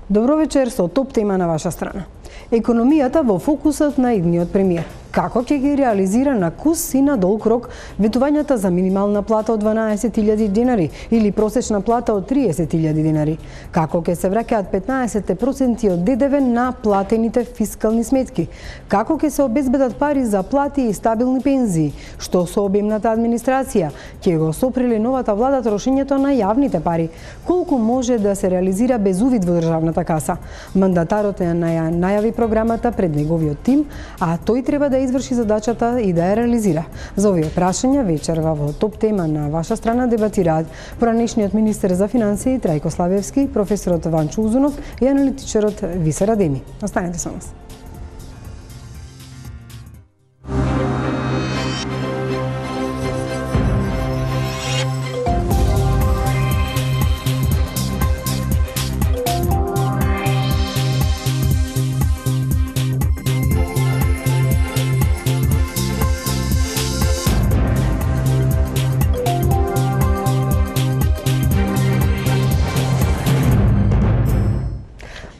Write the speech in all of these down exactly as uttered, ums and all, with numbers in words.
Добро вечер со топ тема на ваша страна. Економијата во фокусот на идниот премиер. Како ќе ги реализира на кус и на долг рок ветувањата за минимална плата од дванаесет илјади динари или просечна плата од триесет илјади динари? Како ќе се враќаат петнаесет проценти од ДДВ на платените фискални сметки? Како ќе се обезбедат пари за плати и стабилни пензии? Што со обемната администрација? Ќе го сопрели новата влада трошењето на јавните пари? Колку може да се реализира без увид во државната каса? Мандатарот е најави програмата пред неговиот тим, а тој треба да изврши задачата и да ја реализира. За овие прашања вечерва во топ тема на ваша страна дебатираат поранешниот министер за финансии Трајко Славевски, професорот Ванчо Узунов и аналитичарот Висер Адеми. Останете со нас.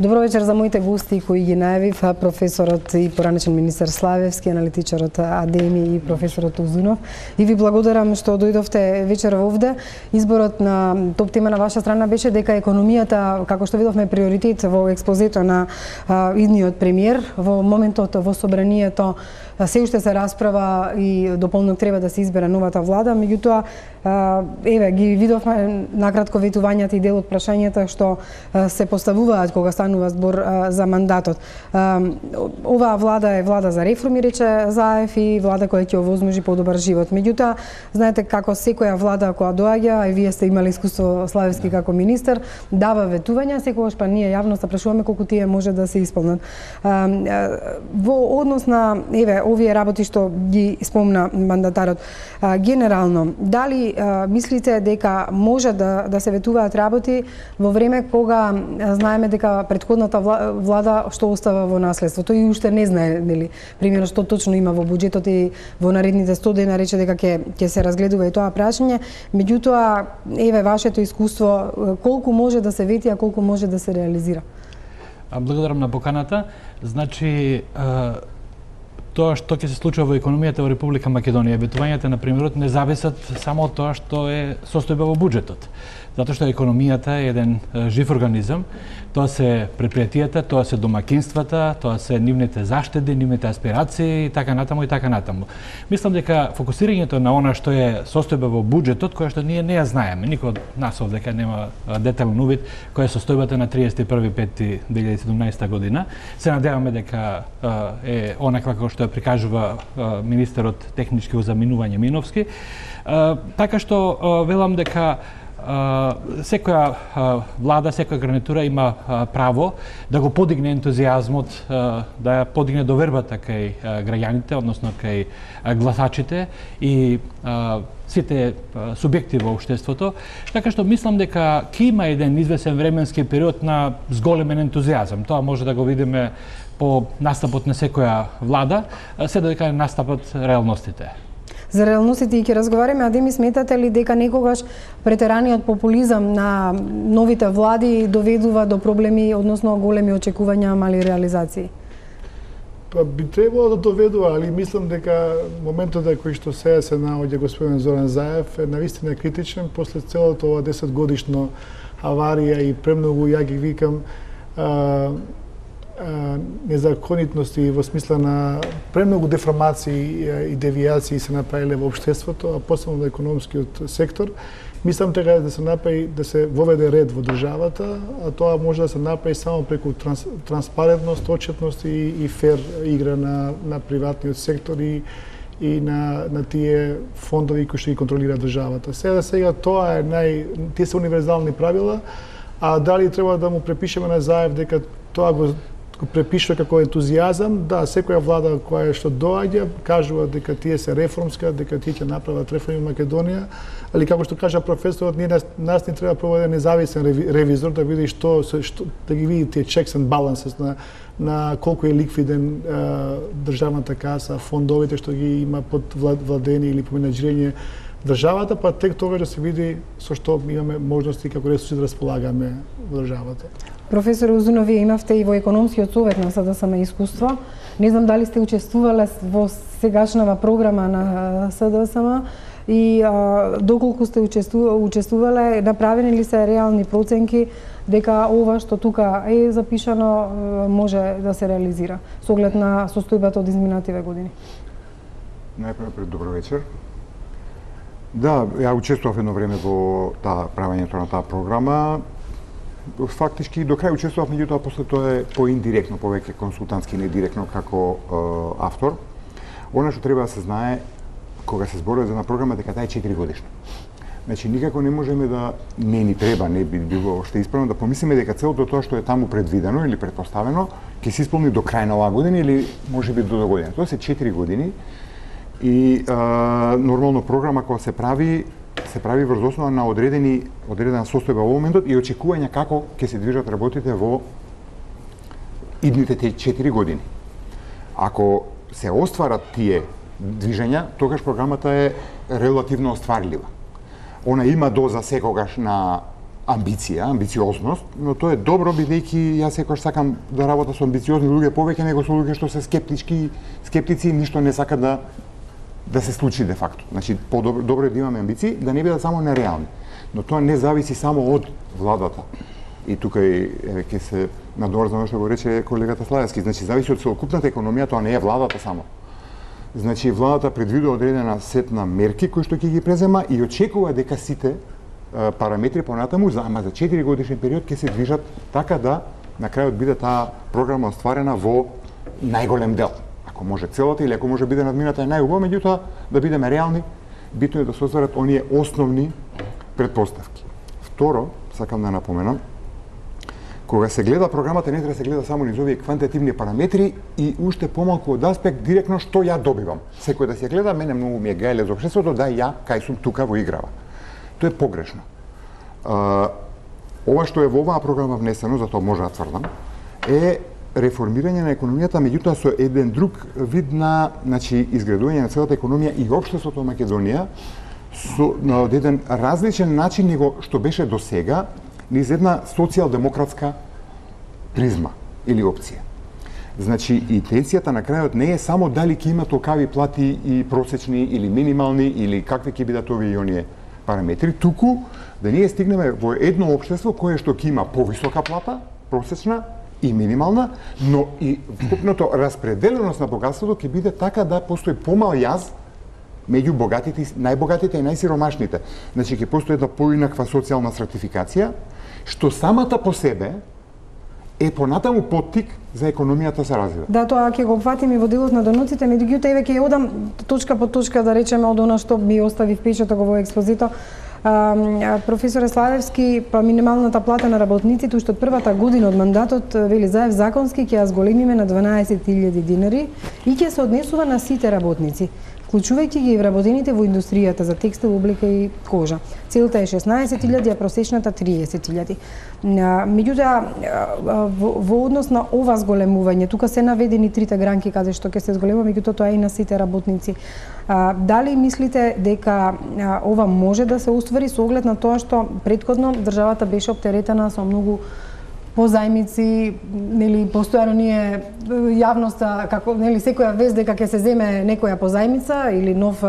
Добро вечер за моите гости кои ги најавив, професорот и поранешен министер Славевски, аналитичарот Адеми и професорот Узунов. И ви благодарам што дојдовте вечер овде. Изборот на топ тема на ваша страна беше дека економијата, како што видовме, приоритет во експозето на а, идниот премиер. Во моментот во собранието се уште се расправа и дополнок треба да се избере новата влада, меѓутоа еве ги видовме накратко ветувањата и дел од прашањата што се поставуваат кога станува збор за мандатот. Оваа влада е влада за реформи, рече Заев, и влада која ќе овозможи подобар живот. Меѓутоа, знаете како секоја влада која доаѓа, а и вие сте имали искуство, Славевски, како министер, дава ветувања, секогаш па ние јавноста прашуваме колку тие може да се исполнат. Во однос на еве овие работи што ги спомна мандатарот, генерално, дали мислите дека може да да се ветуваат работи во време кога знаеме дека претходната влада што остава во наследството и уште не знае, нели, примерно што точно има во буџетот и во наредните сто дена рече дека ќе ќе се разгледува и тоа прашање, меѓутоа еве вашето искуство, колку може да се вети, а колку може да се реализира? Благодарам на поканата. Значи, тоа што ќе се случува во економијата во Република Македонија, ветувањата на премиерот не зависат само од тоа што е состојба во буџетот. Затоа што економијата е еден жив организам, тоа се предпријатијата, тоа се домакинствата, тоа се нивните заштеди, нивните аспирации и така натаму и така натаму. Мислам дека фокусирањето на она што е состојба во буџетот, која што ние не ја знаеме, никој од нас овде нема детален увид која е состојбата на триесет и први пети две илјади и седумнаесета година. Се надеваме дека е онаква како што ја прикажува министерот технички узаминување Миновски. Така што велам дека секоја влада, секоја гарнитура има право да го подигне ентузијазмот, да ја подигне довербата кај граѓаните, односно кај гласачите и сите субјекти во општеството. Така што мислам дека ќе има еден извесен временски период на зголемен ентузијазам. Тоа може да го видиме по настапот на секоја влада, се додека настапат реалностите. За реалностите и ќе разговараме, а Адеми, сметате ли дека некогаш претераниот популизам на новите влади доведува до проблеми, односно големи очекувања, мали реализации? Па би требало да доведува, али мислам дека моментот кој што сега се наоѓа господин Зоран Заев е навистина критичен после целото ова десет годишно аварија и премногу, ја ги викам, а, незаконитности во смисла на премногу деформации и девијации се направиле во општеството, а посебно во економскиот сектор. Мислам дека да се направи, да се воведе ред во државата, а тоа може да се направи само преку транс, транспарентност, отчетност и, и фер игра на, на приватниот сектор и, и на, на тие фондови кои што ги контролира државата. Сега сега тоа е нај, тие се универзални правила, а дали треба да му препишеме на Заев дека тоа го го препишува како ентузијазам, да, секоја влада која што доаѓа кажува дека тие се реформска, дека тие ќе направат реформи во Македонија, али како што кажа професорот, ние нас, нас не треба проведе независен ревизор да види што, што да ги види тие checks and balances на на колку е ликвиден а, државната каса, фондовите што ги има под владени или по менеджирање државата, па тек тогаш да се види со што имаме можности како ресурси да располагаме во државата. Професор Узунов, вие имавте и во економскиот совет на СДСМ искуство. Не знам дали сте учествувале во сегашнава програма на СДСМ и а, доколку сте учеству, учествувале, направени ли се реални проценки дека ова што тука е запишано може да се реализира со оглед на состојбата од изминативе години? Најпред добро вечер. Да, ја учествував едно време во таа правењето на таа програма. Фактички до крај учествував, меѓутоа после тоа е поиндиректно, повеќе консултантски, не директно како е, автор. Она што треба да се знае кога се зборува за една програма дека таа е четири годишна. Значи никако не можеме да не ни треба, не би било што исправно да помислиме дека целото тоа што е таму предвидено или претпоставено ќе се исполни до крај на оваа година или можеби до догодина. Тоа се четири години и а, нормално програма кога се прави се прави врз основа на одредени одредена состојба во моментот и очекувања како ќе се движат работите во идните четири години. Ако се остварат тие движења, тогаш програмата е релативно остварлива. Она има доза секогаш на амбиција, амбициозност, но тоа е добро бидејќи јас секогаш сакам да работам со амбициозни луѓе повеќе него со луѓе што се скептички, скептици и ништо не сакат да да се случи де факто. Значи подобро добро е да имаме амбиции, да не бидат само нереални. Но тоа не зависи само од владата. И тука и ќе се надорзам што го рече колегата Славевски, значи зависи од целокупната економија, тоа не е владата само. Значи владата предвидува одредена сет на мерки кои што ќе ги презема и очекува дека сите е, параметри понатаму за ама за четири годишен период ќе се движат така да на крајот биде таа програма остварена во најголем дел. Ако може целата или ако може биде надмината е најубаво, меѓутоа да бидеме реални, битно е да се остварат оние основни претпоставки. Второ, сакам да напоменам, кога се гледа програмата не треба да се гледа само низ овие квантитативни параметри и уште помалку од аспект директно што ја добивам. Секој да се гледа, мене многу ми е гајле за општеството, да ја кај сум тука во играва. Тоа е погрешно. А, ова што е во оваа програма внесено, за тоа може да тврдам, е реформирање на економијата, меѓутоа со еден друг вид на, значи, изградување на целата економија и општеството во Македонија со на еден различен начин него што беше до сега, низ една социјалдемократска призма или опција. Значи, интенцијата на крајот не е само дали ќе има толкави плати и просечни или минимални или какви ќе бидат овие и оние параметри, туку да ние стигнеме во едно општество кое што ќе има повисока плата, просечна и минимална, но и вкупното распределеност на богатството ќе биде така да постои помал јаз меѓу богатите, најбогатите и најсиромашните. Значи ќе постои една поинаква социјална стратификација, што самата по себе е понатаму поттик за економијата се развива. Да, тоа ќе го опфатим и во делот на доноците, меѓутоа еве ќе одам точка по точка да речеме од она што ми остави впечаток во експозито. А, професоре Славевски, па минималната плата на работниците уште од првата година од мандатот вели Заев законски ќе ја зголемиме на дванаесет илјади динари и ќе се однесува на сите работници, вклучувајќи ги и вработените во индустријата за текстил, облека и кожа. Целта е шеснаесет илјади, а просечната триесет илјади. Меѓутоа, во, во однос на ова зголемување, тука се наведени трите гранки каде што ќе се зголемува, меѓутоа тоа е и на сите работници. А, дали мислите дека а, ова може да се оствари со оглед на тоа што претходно државата беше оптеретена со многу позајмици, нели постојано ние јавноста како нели секоја вест дека ќе се земе некоја позајмица или нов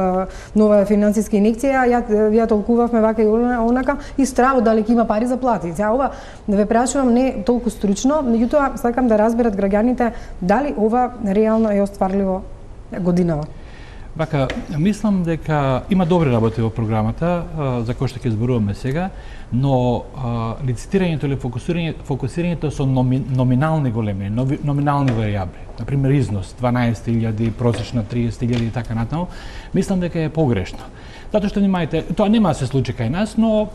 нова финансиска инекција, ја ја толкувавме вака и онака и стравот дали ќе има пари за плати. Сега ова ве прашувам не толку стручно, меѓутоа сакам да разберат граѓаните дали ова реално е остварливо годинава. Вака, мислам дека има добри работи во програмата, за кои што ќе зборуваме сега, но а, лицитирањето или фокусирањето, фокусирањето со номи, номинални големи, нови, номинални варијабли, например износ дванаесет илјади, просечна триесет илјади и така натаму, мислам дека е погрешно. Затоа што внимајте, тоа нема да се случи кај нас, но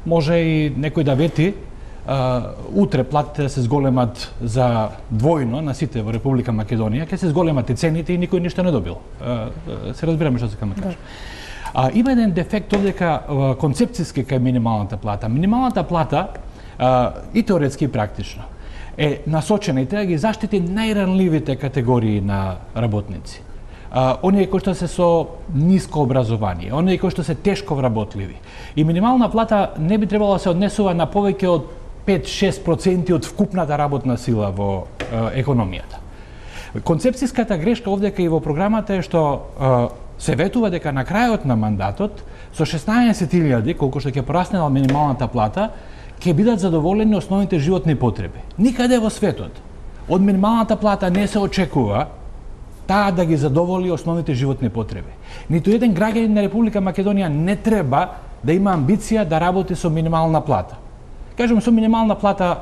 може и некој да вети Uh, утре платите се зголемат за двојно на сите во Република Македонија, ќе се зголемат и цените и никој ништо не добил. Uh, се разбираме што сакам да кажам. Uh, има еден дефект овдека uh, концепцијски кај минималната плата. Минималната плата uh, и теоретски и практично е насочена и треба да ги заштити најранливите категории на работници. а, оние кои што се со ниско образование, оние кои што се тешко вработливи. И минимална плата не би требало да се однесува на повеќе од пет до шест проценти од вкупната работна сила во а, економијата. Концепцијската грешка овдека и во програмата е што а, се ветува дека на крајот на мандатот со шеснаесет илјади, колку што ќе пораснела минималната плата, ќе бидат задоволени основните животни потреби. Никаде во светот од минималната плата не се очекува таа да ги задоволи основните животни потреби. Ниту еден граѓанин на Република Македонија не треба да има амбиција да работи со минимална плата. Кажем, со минимална плата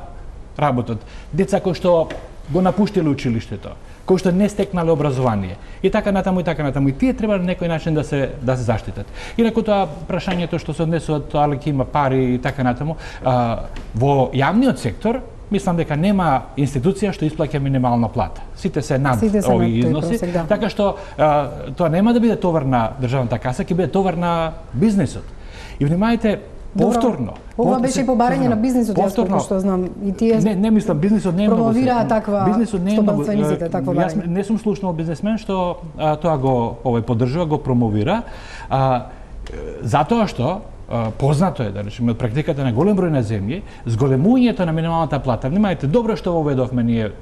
работат деца кои што го напуштиле училиштето, кои што не стекнале образование и така натаму и така натаму, и тие треба на некој начин да се да се заштитат. Инаку тоа прашањето што се однесува тоа ли има пари и така натаму, а, во јавниот сектор мислам дека нема институција што исплаќа минимална плата. Сите се над Сите се овие над тој износи, просек, да. така што а, тоа нема да биде товар на државната каса, ќе биде товар на бизнисот. И внимајте, повторно. Ова беше и побарање на бизнисот, јас колку што знам. И тие Не, не мислам, бизнисот не е многу. промовираа таква бизнисот не е многу. стопанствениците, такво Јас барање. не сум слушнал бизнесмен што а, тоа го овој поддржува, го промовира. А, затоа што а, познато е, да речеме, од практиката на голем број на земји, зголемувањето на минималната плата. Внимајте, добро што воведовме ние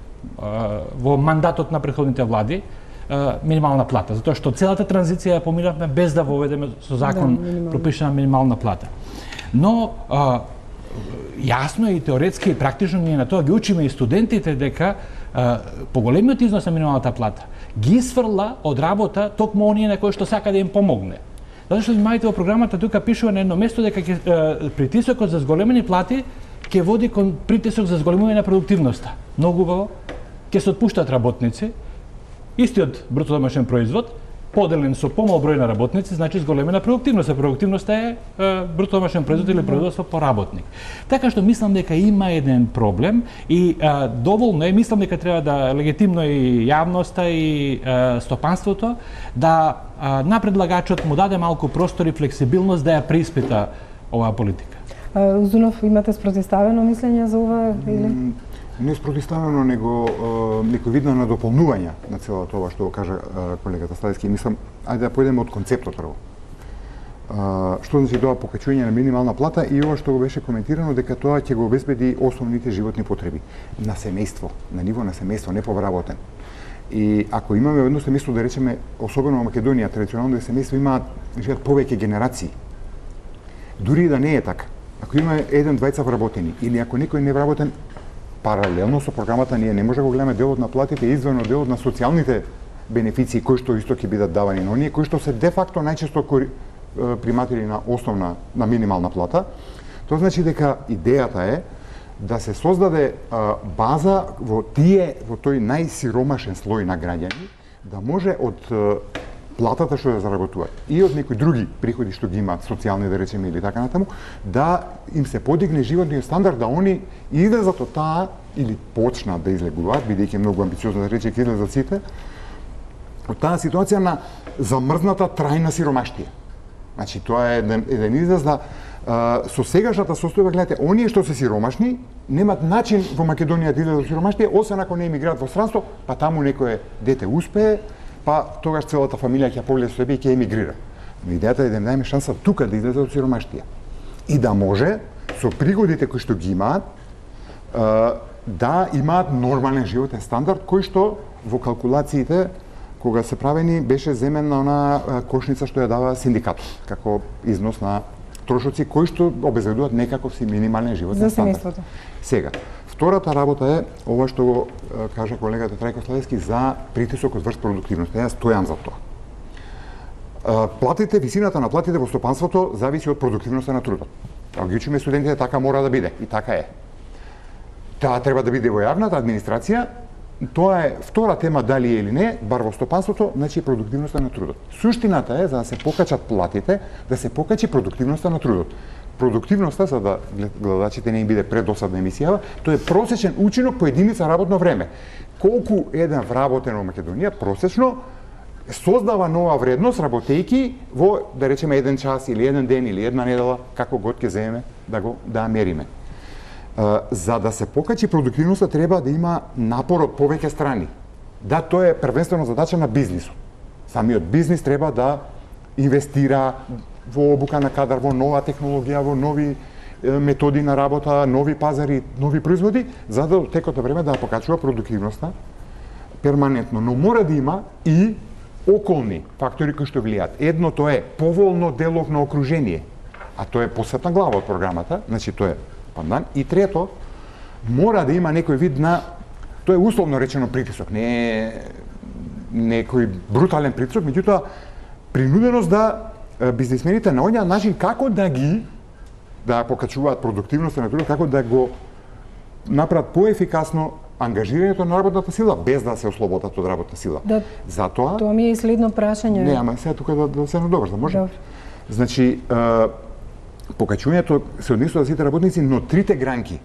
а, во мандатот на претходните влади, а, минимална плата, затоа што целата транзиција ја поминавме без да воведеме со закон Да, минимална. пропишана минимална плата. Но а, јасно е и теоретски и практично ние на тоа ги учиме и студентите дека а, поголемиот износ на минималната плата ги сврла од работа токму оние на кои што сака да им помогне. Затоа што внимавајте, во програмата тука пишува на едно место дека ќе, а, притисокот за зголемени плати ќе води кон притисок за зголемување на продуктивноста. Многу убаво, ќе се отпуштат работници, истиот бруто домашен производ поделен со помал број на работници, значи зголемена продуктивност. А продуктивноста е, е бруто домашен производ или производство по работник. Така што мислам дека има еден проблем и е, доволно е, мислам дека треба да легитимно и јавноста и е, стопанството да е, на предлагачот му даде малку простор и флексибилност да ја преиспита оваа политика. Узунов, имате спротивставено мислење за ова или? Не спротивставено, него некој вид на надополнување на целото ова што кажа колегата Славевски. Мислам, ајде да појдеме од концептот прво. Што значи тоа покачување на минимална плата и ова што го беше коментирано дека тоа ќе го обезбеди основните животни потреби на семејство, на ниво на семејство, не повработен. И ако имаме едно семејство, да речеме, особено во Македонија, традиционално семејство имаат живеат повеќе генерации. Дури и да не е така. Ако има еден двајца вработени или ако некој не вработен, паралелно со програмата ние не може да го гледаме делот на платите извен од делот на социјалните бенефиции кои што исто ќе бидат давани на оние кои што се де факто најчесто приматели на основна на минимална плата. Тоа значи дека идејата е да се создаде а, база во тие во тој најсиромашен слој на граѓани да може од а, платата што ја заработуваат и од некои други приходи што ги имаат, социјални да речеме или така натаму, да им се подигне животниот стандард, да они излезат од таа или почнат да излегуваат, бидејќи многу амбициозно да рече ќе излезат сите, од таа ситуација на замрзната трајна сиромаштија. Значи тоа е еден, еден израз да а, со сегашната состојба, гледате, оние што се сиромашни немаат начин во Македонија да излезат од сиромаштија, освен ако не емигрираат во странство, па таму некое дете успее, па тогаш целата фамилија ќе погледа со себе и ќе емигрира. Но идејата е да им дајме шанса тука да излезе од сиромаштија. И да може, со пригодите кои што ги имаат, да имаат нормален животен стандард, кој што во калкулациите, кога се правени, беше земен на она кошница што ја дава синдикатот, како износ на трошоци, кои што обезбедуваат некаков си минимален животен стандард. За семејството. Сега, Втората работа е ова што го кажа колегата Трајко Славевски за притисокот врз продуктивност. Јас стојам за тоа. Платите, висината на платите во стопанството зависи од продуктивноста на трудот. Ако ги учиме студентите, така мора да биде и така е. Таа треба да биде во јавната администрација. Тоа е втора тема, дали е или не, бар во стопанството, значи продуктивноста на трудот. Суштината е за да се покачат платите, да се покачи продуктивноста на трудот. Продуктивноста, за да гледачите не им биде предосадна емисија, тоа е просечен учинок по единица работно време. Колку еден вработен во Македонија просечно создава нова вредност работејки во, да речеме, еден час или еден ден или една недела, како год ќе земеме да го да мериме. За да се покачи продуктивноста треба да има напор од повеќе страни. Да, тоа е првенствено задача на бизнисот. Самиот бизнис треба да инвестира во обука на кадар, во нова технологија, во нови методи на работа, нови пазари, нови производи, за да текот на време да покачува продуктивноста перманентно. Но мора да има и околни фактори кои што влијаат. Едното е поволно деловно окружение, а тоа е посебна глава од програмата, значи тоа е пандан. И трето, мора да има некој вид на, тоа е условно речено притисок, не е некој брутален притисок, меѓутоа принуденост да бизнисмените наоѓаат начин како да ги да покачуваат продуктивноста на трудот, како да го направат поефикасно ангажирањето на работната сила без да се ослободат од работна сила. Да, затоа тоа ми е и следно прашање. Не, ама сега тука да, да се надобрзам, може? Да. Значи, е, покачувањето се однесува за сите работници, но трите гранки,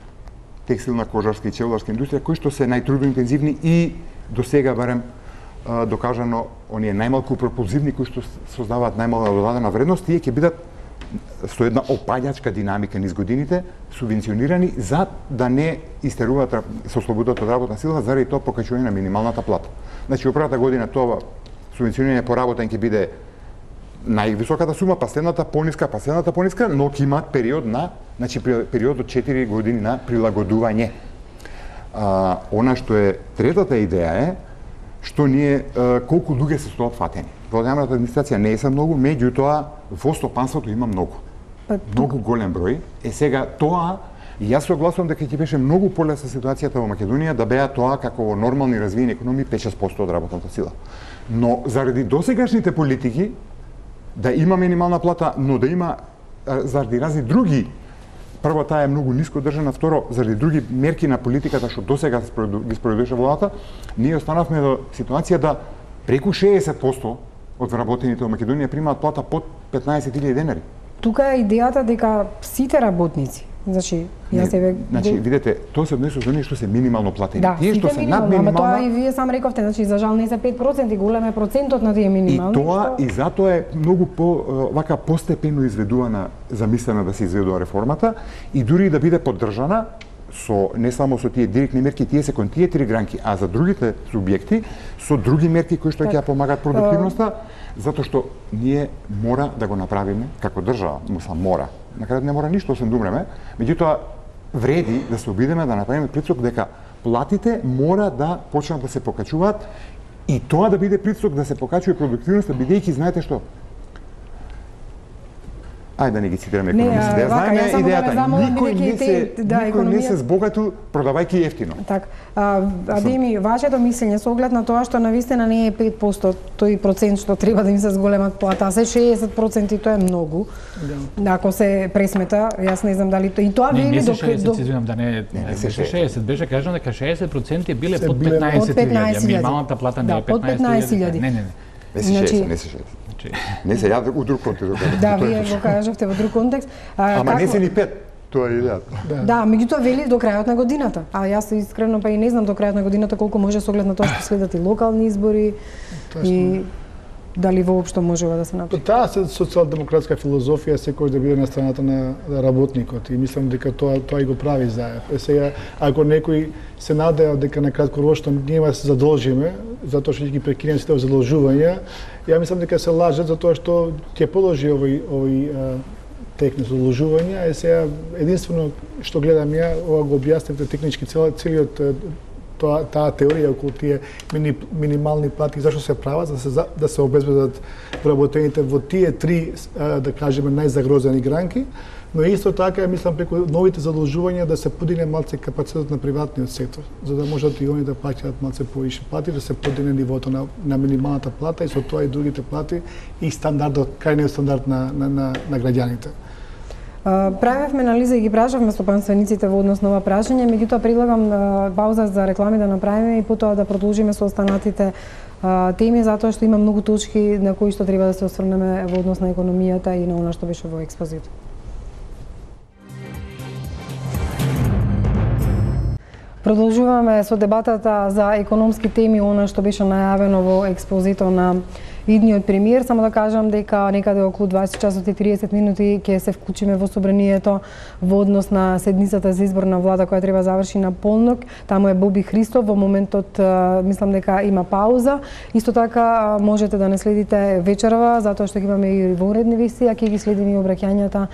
текстилна, кожарска и челарска индустрија, кои што се најтрудоинтензивни и до сега барем е, докажано оние најмалку пропулзивни кои што создаваат најмалка додадена вредност, тие ќе бидат со една опаѓачка динамика низ годините, субвенционирани за да не истеруваат со слободата од работна сила заради тоа покачување на минималната плата. Значи, опрата година тоа субвенционирање по работен ќе биде највисоката сума, па следната пониска, па следната пониска, но ќе имаат период на, значи период од четири години на прилагодување. А, она што е третата идеја е што ние а, колку луѓе се стоат фатени. Во јавната администрација не е се многу, меѓутоа во стопанството има многу. Па, многу голем број. Е сега тоа, јас согласувам дека ќе беше многу полесна ситуацијата во Македонија да беа тоа како во нормални развиени економии пет-шест проценти од работната сила. Но заради досегашните политики да има минимална плата, но да има заради разни други, прво таа е многу ниско држана, второ заради други мерки на политиката што досега ги спроведуваше владата, ние останавме до ситуација да преку шеесет проценти од вработените во Македонија примаат плата под петнаесет илјади денари. Тука е идејата дека сите работници, значи, јас еве значи видете, тоа се однесува за оние што се минимално платени. Да, тие што се над минимална, ама тоа и вие сам рековте, значи за жал не се пет проценти, голем е процентот на тие минимални. И тоа што... и затоа е многу по вака постепено изведувана, замислена да се изведува реформата и дури да биде поддржана со не само со тие директни мерки, тие се кон тие три гранки, а за другите субјекти со други мерки кои што ќе ја помагаат продуктивноста, затоа што ние мора да го направиме како држава, мусла мора. На крајот не мора ништо освен да умреме, меѓутоа вреди да се обидеме да направиме притисок дека платите мора да почнат да се покачуваат и тоа да биде притисок да се покачува продуктивноста, бидејќи знаете што? Ајде да не ги цитираме економисти, да знаеме идејата. Никој не се, да, никој економија... не се збогатил продавајќи ефтино. Так, а, Адеми, вашето мислење со оглед на тоа што навистина не е пет проценти тој процент што треба да им се зголемат плата, а се шеесет проценти, тоа е многу. Да. Ако се пресмета, јас не знам дали тоа и тоа вели до шеесет, се извинам да не не се шеесет, беше кажано дека шеесет проценти биле под петнаесет илјади, минималната плата не е петнаесет илјади. Не, не, не. Не се шеесет, не се шеесет. Не се ја у друг контекст. Да, вие го кажавте во друг контекст. А, Ама како... не се ни пет, тоа е идејата. Да, да, меѓутоа вели до крајот на годината. А јас искрено па и не знам до крајот на годината колку може со оглед на тоа што следат и локални избори и дали воопшто можева да се направи. Таа се социјалдемократска филозофија секој да биде на страната на работникот и мислам дека тоа тоа и го прави заев. Е сега ако некој се надеа дека на краткорочно ние да се задолжиме затоа што ќе ги прекинеме сите задолжувања, ја мислам дека се лажат затоа што ќе продолжи овој овој тек на задолжувања. Е сега единствено што гледам ја, ова го објаснивте технички целиот тоа таа теорија околу тие мини, минимални плати зашто се прават за да се да се обезбедат вработените во тие три да кажеме најзагрозени гранки, но исто така мислам преку новите задолжувања да се подигне малце капацитетот на приватниот сектор, за да можат и они да плаќаат малце повише плати, да се подигне нивото на, на минималната плата и со тоа и другите плати и стандардот, крајниот стандард на на на, на граѓаните. Правевме анализа и ги прашавме стопанствениците во однос на ова прашање, меѓутоа предлагам пауза за реклами да направиме и потоа да продолжиме со останатите теми, затоа што има многу точки на кои што треба да се осврнеме во однос на економијата и на она што беше во експозито. Продолжуваме со дебатата за економски теми, она што беше најавено во експозито на идниот премиер, само да кажам дека некаде околу дваесет часот и триесет минути ќе се вклучиме во собранието во однос на седницата за избор на влада која треба заврши на полнок. Таму е Боби Христов, во моментот мислам дека има пауза. Исто така можете да не следите вечерва, затоа што ќе имаме и во уредни вести, а ќе ги следиме и обраќањата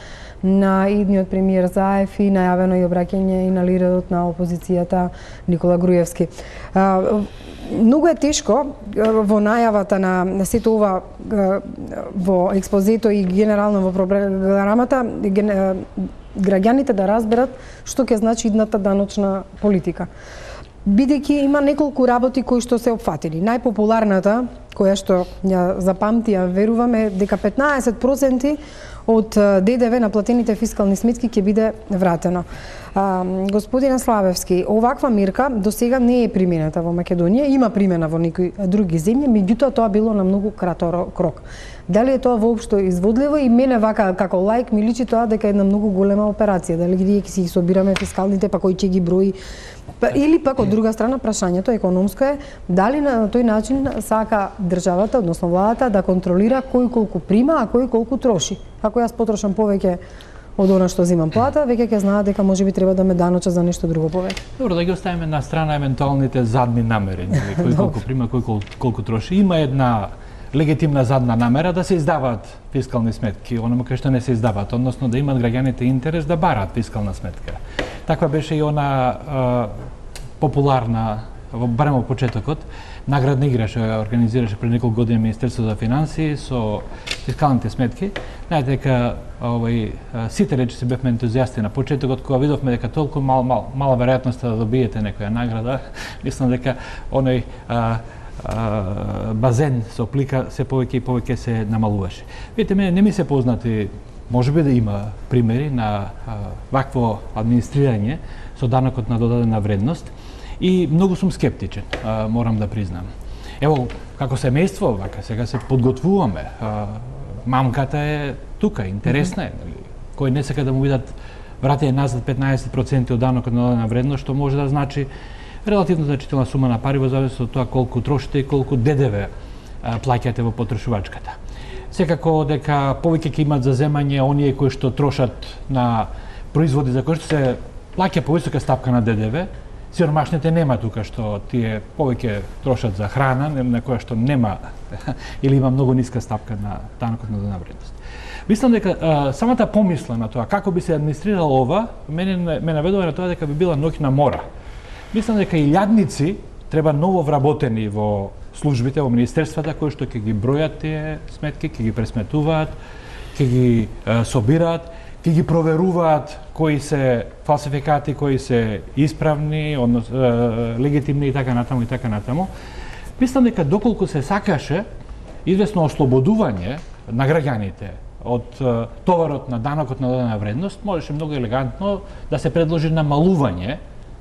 на идниот премиер Заев и најавено и обраќање и на лидерот на опозицијата Никола Груевски. Многу е тешко во најавата на сето ова во експозето и генерално во програмата граѓаните да разберат што ќе значи идната даночна политика. Бидејќи има неколку работи кои што се опфатени. Најпопуларната, која што ја запамтија, веруваме дека петнаесет проценти од ДДВ на платените фискални сметки ќе биде вратено. А, господине Славевски, оваква мирка до сега не е примената во Македонија, има примена во некои други земји, меѓутоа тоа било на многу краток рок. Дали е тоа воопшто изводливо? И мене вака како лаик ми личи тоа дека е една многу голема операција, дали ги ќе си ги собираме фискалните, па кој ќе ги брои. Или пак од друга страна прашањето економско е дали на тој начин сака државата, односно владата, да контролира кој колку прима, а кој колку троши. Ако јас потрошам повеќе од она што земам плата, веќе ќе знаат дека можеби треба да ме даноча за нешто друго повеќе. Добро, да ги оставиме на страна евентуалните задни намери, кој колку прима, кој колку, колку троши. Има една легитимна задна намера да се издаваат фискални сметки, оному кај што не се издаваат, односно да имаат граѓаните интерес да бараат фискална сметка. Таква беше и она а, популарна, барем во почетокот, наградна игра што ја организираше пред неколку години Министерството за финансии со фискалните сметки. Знаете дека овој сите речи се бевме ентузијасти на почетокот кога видовме дека толку мал, мал, мала веројатност да добиете некоја награда, мислам дека оној а, а, базен со плика се повеќе и повеќе се намалуваше. Видите, мене не ми се познати, можеби да има примери на а, вакво администрирање со данокот на додадена вредност. И многу сум скептичен, а, морам да признам. Ево, како семејство, вака сега се подготвуваме. А, мамката е тука, интересна е. Кој не сака да му видат вратење назад петнаесет проценти од данокот на додадена вредност, што може да значи релативно значителна сума на пари во зависност од тоа колку трошите и колку ДДВ а, плаќате во потрошувачката. Секако дека повеќе ќе имат за земање оние кои што трошат на производи за кои што се плаќа повисока стапка на ДДВ. Сиромашните нема тука што тие повеќе трошат за храна, на која што нема или има многу ниска стапка на данокот на додадена вредност. Мислам дека а, самата помисла на тоа како би се администрирало ова, мене ме наведува на тоа дека би била ноќна мора. Мислам дека и лјадници треба ново вработени во службите, во министерствата кои што ќе ги бројат тие сметки, ќе ги пресметуваат, ќе ги а, собираат, ќе ги проверуваат кои се фалсификати, кои се исправни, однос, е, легитимни и така натаму и така натаму. Мислам дека доколку се сакаше известно ослободување на граѓаните од е, товарот на данокот на додадена вредност, можеше многу елегантно да се предложи намалување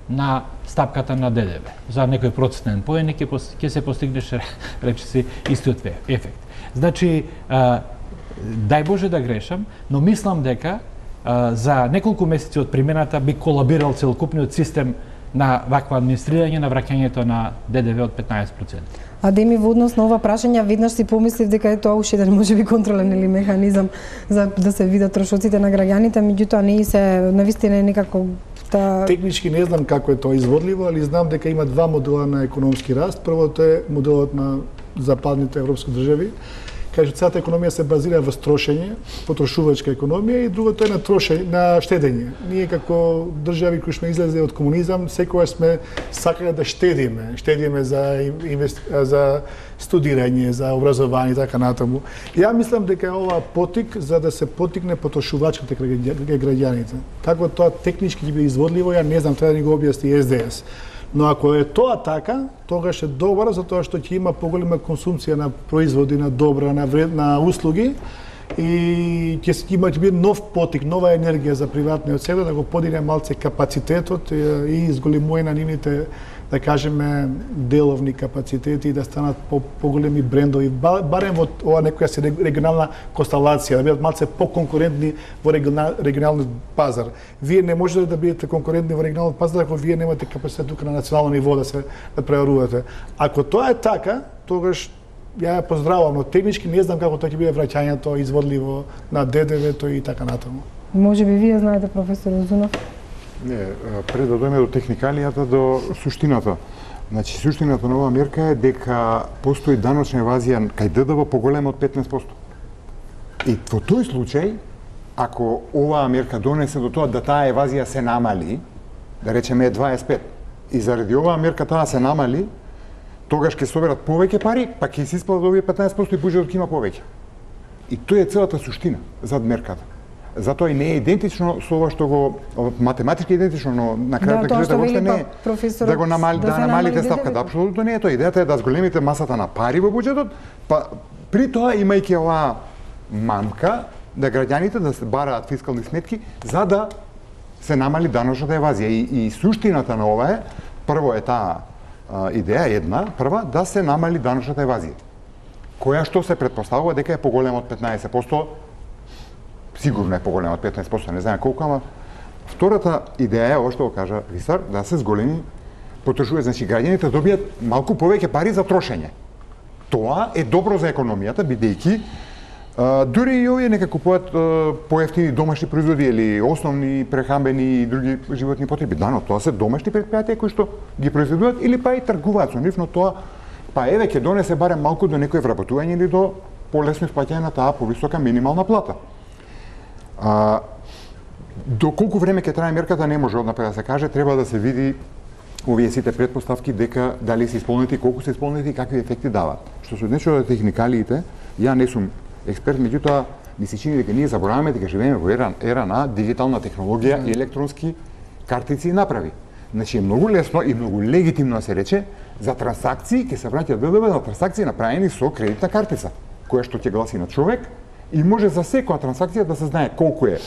на стапката на ДДВ. За некој процентен поен ќе се постигнеше речиси истиот ефект. Значи, е, дај Боже да грешам, но мислам дека за неколку месеци од примената би колабирал целокупниот систем на вакво администрирање на враќањето на ДДВ од петнаесет проценти. А Деми, во однос на ова прашање, веднаш си помислив дека е тоа уште еден можеби контролен или механизам за да се видат трошоците на граѓаните, меѓутоа не и се навистина е некако та... Технички не знам како е тоа изводливо, али знам дека има два модела на економски раст. Првото е моделот на западните европски држави, кај што целата економија се базира во трошење, потрошувачка економија, и другото е на трошење, на штедење. Ние како држави кои сме излезе од комунизам, секогаш сме сакале да штедиме, штедиме за инвести... за студирање, за образование и така натаму. Ја мислам дека е ова потик за да се потикне потрошувачката кај граѓаните. Како тоа технички ќе биде изводливо, ја не знам, треба да ни го објасни Ес Де Ес. Но ако е тоа така, тогаш е добро, затоа што ќе има поголема консумција на производи, на добра, на вред, на услуги, и ќе има ќе биде нов потик, нова енергија за приватниот сектор да го подигне малце капацитетот и изголемување на нивните, да кажеме, деловни капацитети и да станат по поголеми брендови, барем во ова некоја се регионална констелација, да бидат малце поконкурентни во регионалниот пазар. Вие не можете да бидете конкурентни во регионалниот пазар ако вие немате капацитет тука на национално ниво да се да преорувате. Ако тоа е така, тогаш ја ја поздравувам, но технички не знам како тоа ќе биде враќањето изводливо на Д Д В-то и така натаму. Може би вие знаете, професор Узунов? Не, пред да дојдеме до техникалијата, до суштината. Значи, суштината на оваа мерка е дека постои даночна евазија кај Д Д В поголема од петнаесет проценти. И во тој случај, ако оваа мерка донесе до тоа да таа евазија се намали, да речеме е дваесет и пет, и заради оваа мерка таа се намали, тогаш ќе соберат повеќе пари, па ќе се исплатат овие петнаесет проценти и буџетот ќе има повеќе. И тоа е целата суштина зад мерката. Затоа и не е идентично со ова што го математички идентично, но на крајот да кажете воопшто не е да го намали, да, да намалите ставката. Апсолутно не е тоа. Идејата е да зголемите масата на пари во буџетот, па при тоа имајќи оваа мамка да граѓаните да се бараат фискални сметки за да се намали даночната евазија. И, и суштината на ова е, прво е таа а, идеја една, прва да се намали даночната евазија, која што се претпоставува дека е поголема од петнаесет проценти. Сигурно е поголема од петнаесет проценти, не знам колку, ама втората идеја е ова што го кажа Висар, да се зголеми потрошување, значи граѓаните добијат малку повеќе пари за трошење. Тоа е добро за економијата, бидејќи а, дури и овие нека купуваат поевтини домашни производи или основни прехранбени и други животни потреби. Да, но тоа се домашни претпријатија кои што ги произведуваат или па и тргуваат со нив, но тоа па еве ќе донесе барем малку до некој вработување или до полесно исплаќање на таа повисока минимална плата. А, до колку време ќе трае мерката не може однапред да се каже, треба да се види овие сите претпоставки дека дали се исполнети, колку се исполнети и какви ефекти даваат. Што се однесува до техникалиите, ја не сум експерт, меѓутоа ми се чини дека ние забораваме дека живееме во ера, ера на дигитална технологија и електронски картици и направи. Значи е многу лесно и многу легитимно да се рече за трансакции ќе се враќа Д Д В на трансакции направени со кредитна картица, која што ќе гласи на човек и може за секоја трансакција да се знае колку е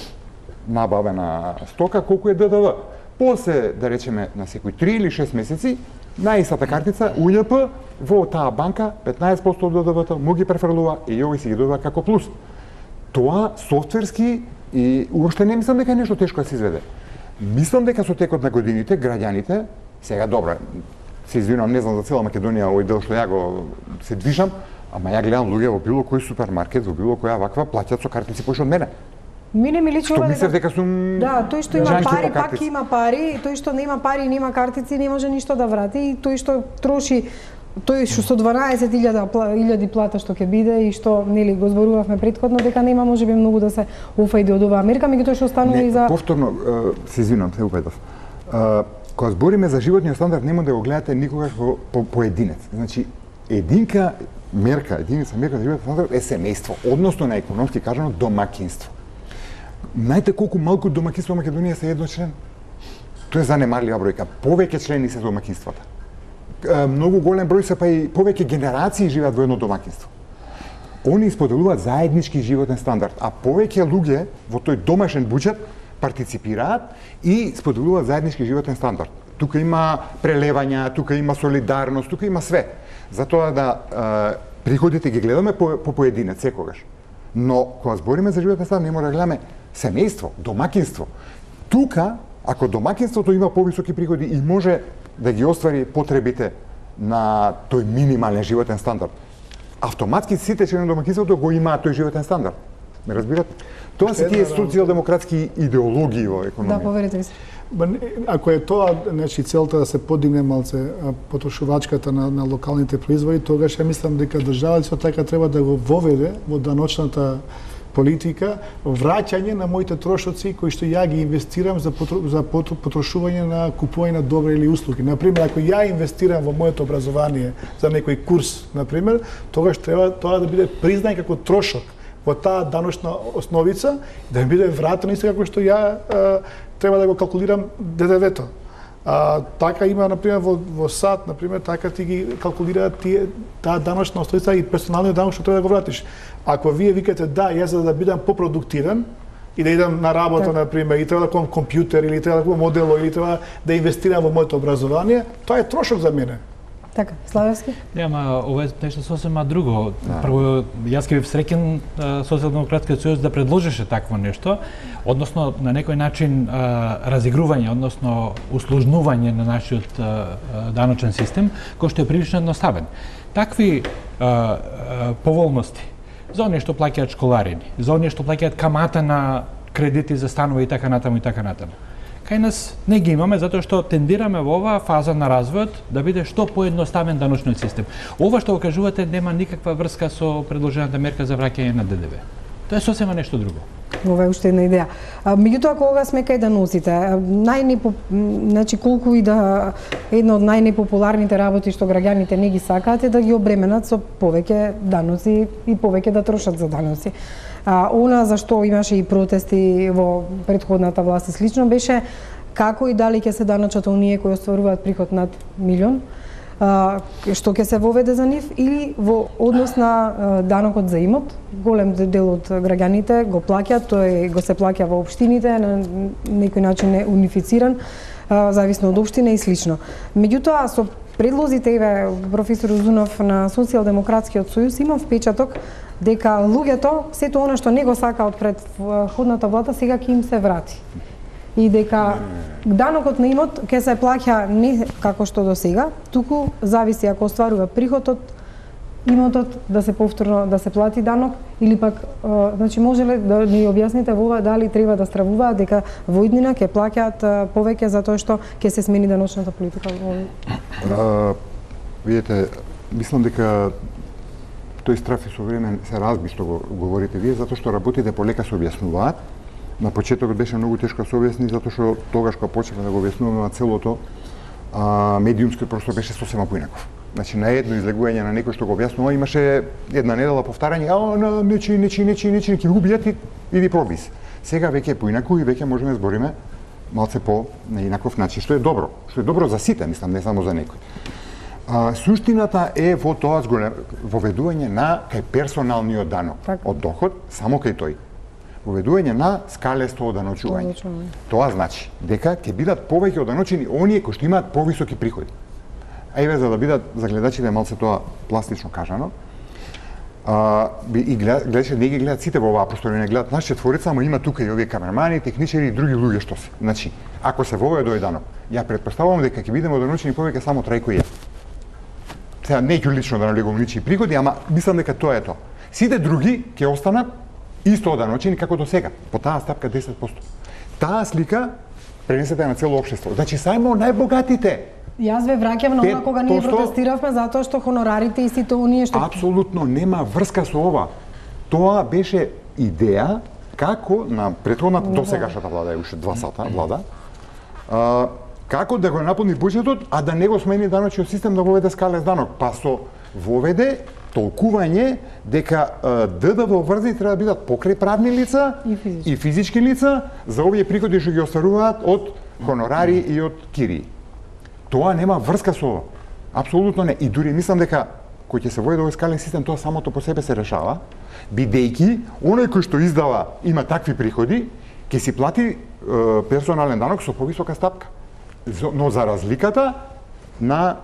набавена стока, колку е Д Д В. После, да речеме, на секои три или шест месеци, на истата картица, У Љ П, во таа банка, петнаесет проценти од Д Д В-то му ги префрлува и овој си ги добива како плюс. Тоа софтверски и уопште не мислам дека е нешто тешко да се изведе. Мислам дека со текот на годините, граѓаните, сега добро, се извинувам, не знам за цела Македонија овој дел што ја го се движам, ама ја гледам луѓе во било кој супермаркет, во било која ваква плаќаат со картици поише од мене. Мене ми личи ова дека... дека сум... Да, тој што има пари, пак има пари, тој што нема пари, нема картици, не може ништо да врати, и тој што троши, тој што со дванаесет илјади плата што ќе биде и што нели го зборувавме претходно дека нема можеби многу да се офајде од оваа мерка, меѓутоа што останува и за... Повторно, се извинувам, се упедав. Кога збориме за животниот стандард, нема да го гледате никогаш во по, поединец. Значи, единка мерка, единица мерка за животниот стандард е семејство, односно на економски кажано домакинство. Знаете колку малку домакинство во Македонија се едночлен? Тоа е занемарлива бројка. Повеќе члени се домакинствата. Многу голем број се па и повеќе генерации живеат во едно домакинство. Они споделуваат заеднички животен стандард, а повеќе луѓе во тој домашен буџет партиципираат и споделуваат заеднички животен стандард. Тука има прелевања, тука има солидарност, тука има све. Затоа да е, приходите ги гледаме по, по поединец секогаш. Но кога збориме за животен стандард, не може да гледаме семејство, домакинство. Тука, ако домакинството има повисоки приходи и може да ги оствари потребите на тој минимален животен стандард, автоматски сите члени на домакинството го имаат тој животен стандард. Ме разбирате? Тоа се тие социјалдемократски идеологии во економија. Да, поверете ми се. Ако е тоа, значи целта да се подигне малце потрошувачката на, на локалните производи, тогаш ја мислам дека државата со така треба да го воведе во даночната политика враќање на моите трошоци кои што ја ги инвестирам за, потро, за потрошување на купување на добри или услуги. Например, ако ја инвестирам во моето образование за некој курс, например, тогаш треба тоа да биде признај како трошок во таа даночна основица, да ми биде вратено исто како што ја а, треба да го калкулирам Д Д В-то. А, така има, например, во, во САД, например, така ти ги калкулираат тие, таа даночна основица и персоналниот данок што треба да го вратиш. Ако вие викате да, јас за да бидам попродуктивен и да идам на работа, так, например, и треба да купам компјутер, или треба да купам модело, или треба да инвестирам во моето образование, тоа е трошок за мене. Така, Славевски? Нема, ова е нешто сосема друго. Да. Прво, јас ке бев среќен Социјалдемократскиот сојуз да предложише такво нешто, односно на некој начин а, разигрување, односно усложнување на нашиот а, даночен систем, кој што е прилично едноставен. Такви а, а, поволности за оние што плаќаат школарини, за оние што плаќаат камата на кредити за станови и така натаму и така натаму. Кај нас не ги имаме затоа што тендираме во оваа фаза на развојот да биде што поедноставен даночниот систем. Ова што го кажувате нема никаква врска со предложената мерка за враќање на Д Д В. Тоа е сосема нешто друго. Ова е уште една идеја. А, меѓутоа, кога сме кај да носите, најнепо, значи колку и да една од најнепопуларните работи што граѓаните не ги сакаат е да ги обременат со повеќе даноци и повеќе да трошат за даноци. А, она за што имаше и протести во претходната власт и слично беше како и дали ќе се даночат оние кои остваруваат приход над милион, а, што ќе се воведе за нив, или во однос на а, данокот за имот. Голем дел од граѓаните го плаќаат, тој го се плаќа во општините, на некој начин е унифициран, а, зависно од општина и слично. Меѓутоа, со предлозите, еве, професор Узунов на Социјалдемократскиот сојуз, имам впечаток дека луѓето сето она што не го сакаат пред ходната влада сега ќе им се врати. И дека данокот на имот ќе се плаќа не како што до сега, туку зависи ако остварува приход од имотот да се повторно да се плати данок, или пак значи може ли да ни објасните во ова дали треба да стравуваат дека во иднина ќе плаќаат повеќе затоа што ќе се смени даночната политика во видите, мислам дека тој страф и со време се разби што го говорите вие, затоа што работите полека се објаснуваат. На почетокот беше многу тешко да се објасни, затоа што тогаш кога почнавме да го објаснуваме целото, а, медиумскиот простор беше сосема поинаков. Значи, на едно излегување на некој што го објаснува, имаше една недела повтарање, а, на, нечи, нечи, нечи, нечи, ќе го убијат и иди проби се. Сега веќе е поинако и веќе можеме да збориме малце по на инаков начин, што е добро, што е добро за сите, мислам, не само за некој. А, суштината е во тоа воведување на кај персоналниот данок так. Од доход, само кај тој. Воведување на скалесто оданочување. Тоа значи дека ќе бидат повеќе оданочени оние кои што имаат повисоки приходи. А еве за да бидат за гледачите малце тоа пластично кажано, а, и гледачите не ги гледат сите во оваа просторија, не гледат нас четворица, ама има тука и овие камермани, техничари и други луѓе што се. Значи, ако се воведе тој данок, ја претпоставувам дека ќе бидеме оданочени повеќе само Трајко и ја. Сега не ќе лично да налегувам лични приходи, ама мислам дека тоа е тоа. Сите други ќе останат исто оданочени како до сега, по таа стапка десет проценти. Таа слика пренесете на цело општество. Значи сајмо најбогатите. Јас ве враќам на она кога ние протестиравме затоа што хонорарите и сите оние што апсолутно нема врска со ова. Тоа беше идеја како на претходната досегашната влада, е уште два сата влада, а, како да го наполни буџетот, а да не го смени даночниот систем да воведе скалес данок, па со воведе толкување дека Д Д В врзи треба да бидат покрај правни лица и физички, и физички лица за овие приходи што ги остваруваат од хонорари и од кирии. Тоа нема врска со ова. Апсолутно не. И дури мислам дека кој ќе се води овој скален систем, тоа самото по себе се решава, бидејќи оној кој што издава има такви приходи, ќе си плати е, персонален данок со повисока стапка. Но за разликата на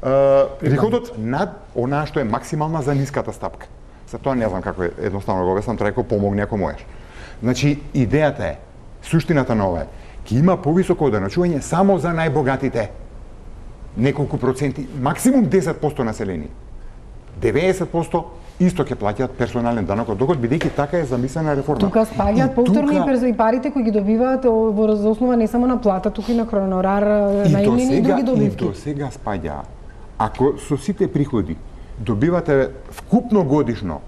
е, приходот над онаа што е максимална за ниската стапка. За тоа не знам како е едноставно го објаснам, треба помогне ако можеш. Значи идејата е, суштината на ова е, ќе има повисоко оданочување само за најбогатите. Неколку проценти, максимум десет проценти население. деветдесет проценти исто ќе плаќаат персонален данок од доход, бидејќи така е замислена реформа. Тука спаѓаат повторно тука... и парите кои ги добиваат во основа не само на плата, туку и на хонорар, најемнини и други добивки. И до сега спаѓа. Ако со сите приходи добивате вкупно годишно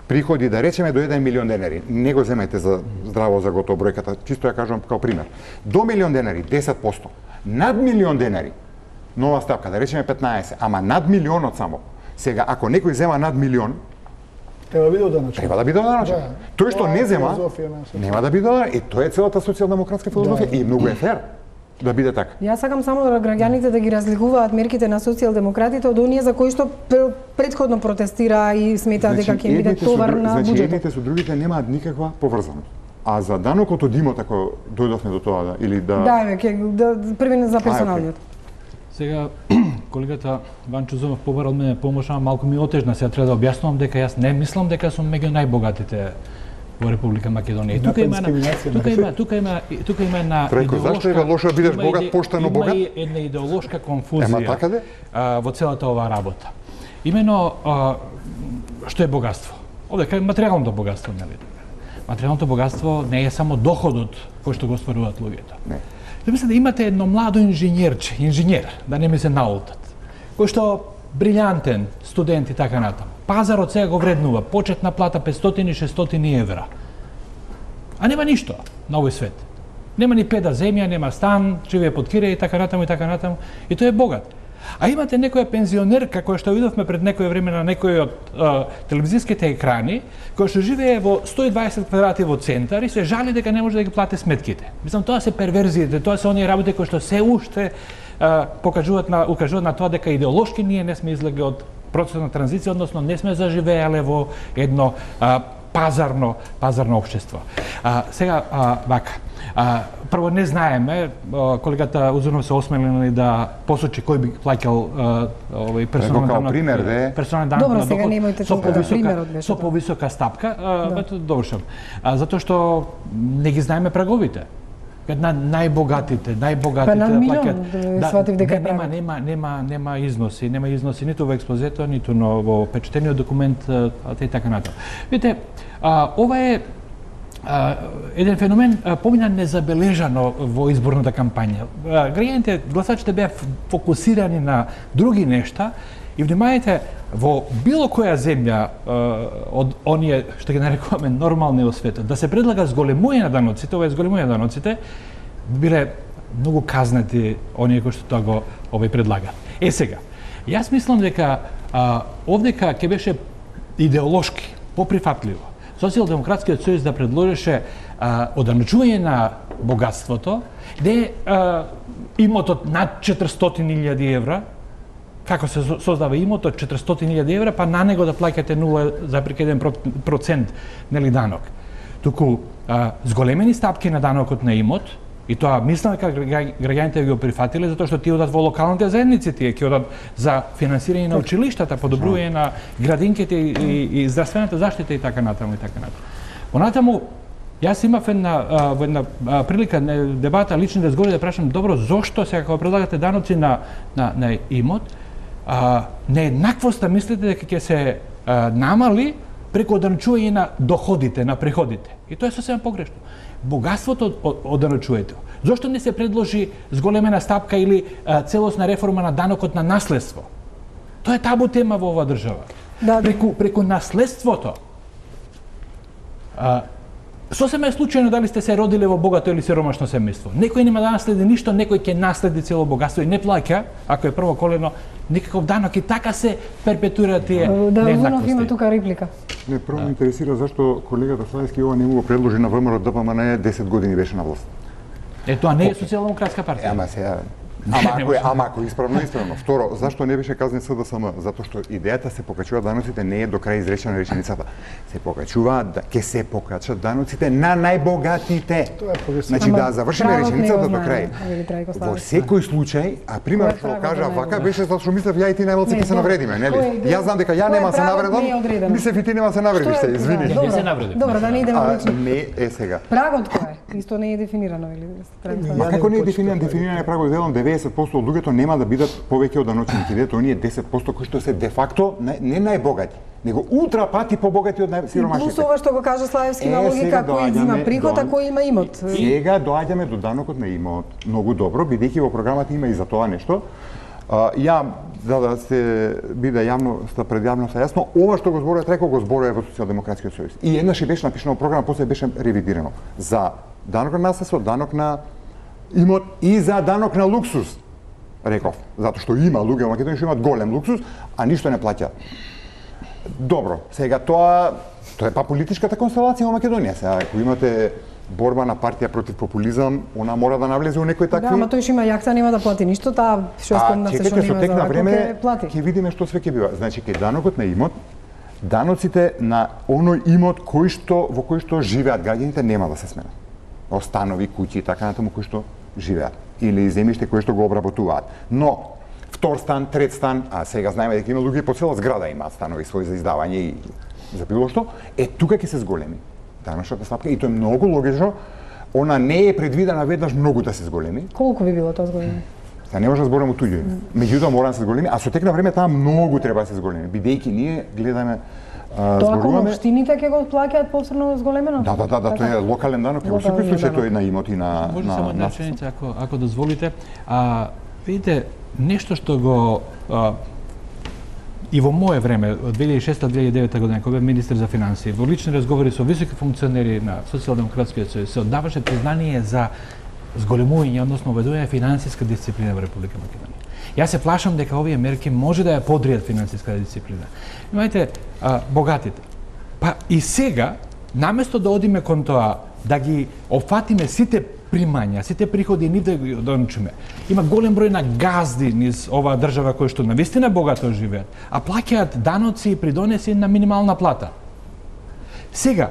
приходи, да речеме до еден милион денари, не го земете за здраво за готово бројката, чисто ја кажувам како пример. До милион денари десет проценти, над милион денари нова стапка, да речеме петнаесет, ама над милионот само. Сега, ако некој зема над милион, треба да биде оданочен. Треба да биде оданочен. Да. Тој што не зема, нема да биде оданочен. И тоа е целата социјалдемократска филозофија. Да. И многу е фер да биде така. Јас сакам само да граѓаните да ги разликуваат мерките на социјалдемократите од оние за кои што претходно протестира и смета дека ќе биде товар на буџетот. Значи, едните со другите немаат никаква поврзаност. А за данокот од имот, ако дојдовме до тоа, да, или да... Да, ќе да, први за персоналниот. Сега колегата Ванчо Зумов побара од мене помош, ама малку ми отежна, сега треба да објаснувам дека јас не мислам дека сум меѓу најбогатите во Република Македонија. И тука има тука има тука има тука има една Треко, зашто е лошо да бидеш богат, поштено богат? Има една идеолошка конфузија. Ема така де? А, во целата оваа работа. Имено а, што е богатство? Овде кај материјалното богатство, нели? Материјалното богатство не е само доходот кој што го стваруваат луѓето. Не. Да мислам да имате едно младо инженерче, инженер, да не ми се наултат, кој што брилјантен студент и така натаму. Пазарот сега го вреднува, почетна плата петстотини до шестстотини евра. А нема ништо на овој свет. Нема ни педа земја, нема стан, живее под киреј и така натаму и така натаму. И тој е богат. А имате некоја пензионерка која што видовме пред некое време на некој од а, телевизиските екрани, која што живее во сто и дваесет квадрати во центар и се жали дека не може да ги плати сметките. Мислам, тоа се перверзиите, тоа се оние работи кои што се уште а, покажуваат на укажуваат на тоа дека идеолошки ние не сме излегли од процесот на транзиција, односно не сме заживеале во едно а, пазарно пазарно општество. А, сега а, вака. А, прво не знаеме, колегата Узунов се осмелил да посочи кој би плаќал овој персонален данок. пример, де. Персонален данок Добро, на сега доход немојте со толку повисока примерот беше со тоа. повисока стапка. Да. Ето довршам. А, затоа што не ги знаеме праговите. Една најбогатите, најбогатите Па над милион, плаќаат. сватив дека не, нема, прагот. нема, нема, нема износи, нема износи ниту во експозето, ниту но во печатениот документ, а, и така натаму. Видите, а, ова е а, еден феномен а, помина незабележано во изборната кампања. А, граѓаните, гласачите беа фокусирани на други нешта и внимајте, во било која земја а, од оние што ги нарекуваме нормални во светот, да се предлага зголемување на даноците, ова е зголемување на даноците, биле многу казнати оние кои што тоа го овој предлага. Е сега, јас мислам дека а, овдека ќе беше идеолошки поприфатливо Социјалдемократскиот сојуз да предложеше а, оданочување на богатството, де а, имотот над четиристотини илјади евра, како се создава имот од четиристотини илјади евра, па на него да плаќате нула запирка еден процент нели данок. Туку а, зголемени стапки на данокот на имот, и тоа мислам дека граѓаните ги го прифатиле затоа што тие одат во локалните заедници, тие ќе одат за финансирање на училиштата, подобрување на градинките и, и, и здравствената заштита и така натаму и така натаму. Понатаму јас имав една а, во една а, прилика на дебата лични разговори да прашам добро зошто сега кога предлагате даноци на на на имот, а, нееднаквоста мислите дека ќе се а, намали преку оданочување на доходите, на приходите. И тоа е сосема погрешно. Богатството оданочувајте. Зошто не се предложи зголемена стапка или а, целосна реформа на данокот на наследство? Тоа е табу тема во оваа држава. Да, преку преку наследството. А, сосема е случајно дали сте се родиле во богато или сиромашно семејство. Некој нема да наследи ништо, некој ќе наследи цело богатство и не плаќа, ако е прво колено, никаков данок и така се перпетуира тие Да, Узунов нееднаквости. има тука реплика. Не, прво ме интересира зашто колегата Славевски ова не му го предложи на ВМРО Д П М Н десет години беше на власт. Е, тоа не е социјалдемократска партија. Ама сега Ама ако е, ама ако е исправно, исправно. Второ, зашто не беше казнет С Д С М? Затоа што идејата се покачува даноците не е до крај изречена реченицата. Се покачува, да, ќе се покачат даноците на најбогатите. Тоа е погрешно. Значи Ама да завршиме правот не реченицата го до знае, крај. Вели Трајко Во Славевски. секој случај, а пример Кој што правот кажа не го вака знае? беше затоа што мислев ја и ти најмалци Не, ќе се добро. навредиме, нели? Кој е- Јас знам дека ја кој нема се правот навредам. не е одредено? Мислев и ти нема се навредиш, Што е- се извини. да, Не добро. се навредив. Добро, да не идеме А, лично. не е сега. Прагот кој е? Исто не е дефинирано, вели Трајко Ма Ја како не е не дефиниран, дефиниран е прагот велам деветдесет проценти од луѓето нема да бидат повеќе од даночените. Видете, оние десет проценти кои што се де факто не, не најбогати, него ултра пати побогати од Плюс најсиромашните. ова што го кажа Славевски Е, на логика, сега кој доаѓаме има приход, а до- кој има имот. Сега доаѓаме до данокот на имот. Многу добро, бидејќи во програмата има и за тоа нешто. А, ја, за да се биде јавноста пред јавноста јасно, ова што го зборува Трајко го зборува во Социјалдемократскиот сојуз. И еднаш беше напишано во програма, после беше ревидирано. За данок на наследство, данок на имот и за данок на луксус. Реков, затоа што има луѓе во Македонија што имаат голем луксус, а ништо не плаќаат. Добро, сега тоа тоа е па политичката констелација во Македонија. Сега ако имате борба на партија против популизам, она мора да навлезе во некои такви. Да, ама тој што има јахта нема да плати ништо, таа што А, спомна се што чекайте, нема со за тек на вако, време ќе плати. ќе видиме што све ќе бива. Значи, кај данокот на имот, даноците на оној имот кој што во кој што живеат граѓаните нема да се сменат. Останови, куќи и така натаму кои што живеат или земјиште кои што го обработуваат. Но втор стан, трет стан, а сега знаеме дека има луѓе по цела зграда имаат станови своји за издавање и за било што, е тука ќе се зголеми даношната стапка и тоа е многу логично. Она не е предвидена веднаш многу да се зголеми. Колку би било тоа зголеми? Та не може да зборам од туѓи. Меѓутоа мора да се зголеми, а со тек на време таа многу треба да се зголеми, бидејќи ние гледаме а, тоа кога зборуваме. општините ќе го плаќаат повторно зголемено? Да, да, да, да, тоа е локален данок, во секој случај тој е на имот и на Може на само една на реченица, ако ако дозволите. А видите, нешто што го а, и во мое време, од две илјади и шеста до две илјади и девета година, кога бев министер за финансии, во лични разговори со високи функционери на Социјалдемократскиот сојуз, се оддаваше признание за зголемување, односно уведување финансиска дисциплина во Република Македонија. Јас се плашам дека овие мерки може да ја подријат финансиска дисциплина. Имајте а, богатите. Па и сега, наместо да одиме кон тоа, да ги опфатиме сите примања, сите приходи и нив да ги дончиме. Има голем број на газди низ оваа држава кои што навистина богато живеат, а плаќаат даноци и придонеси на минимална плата. Сега,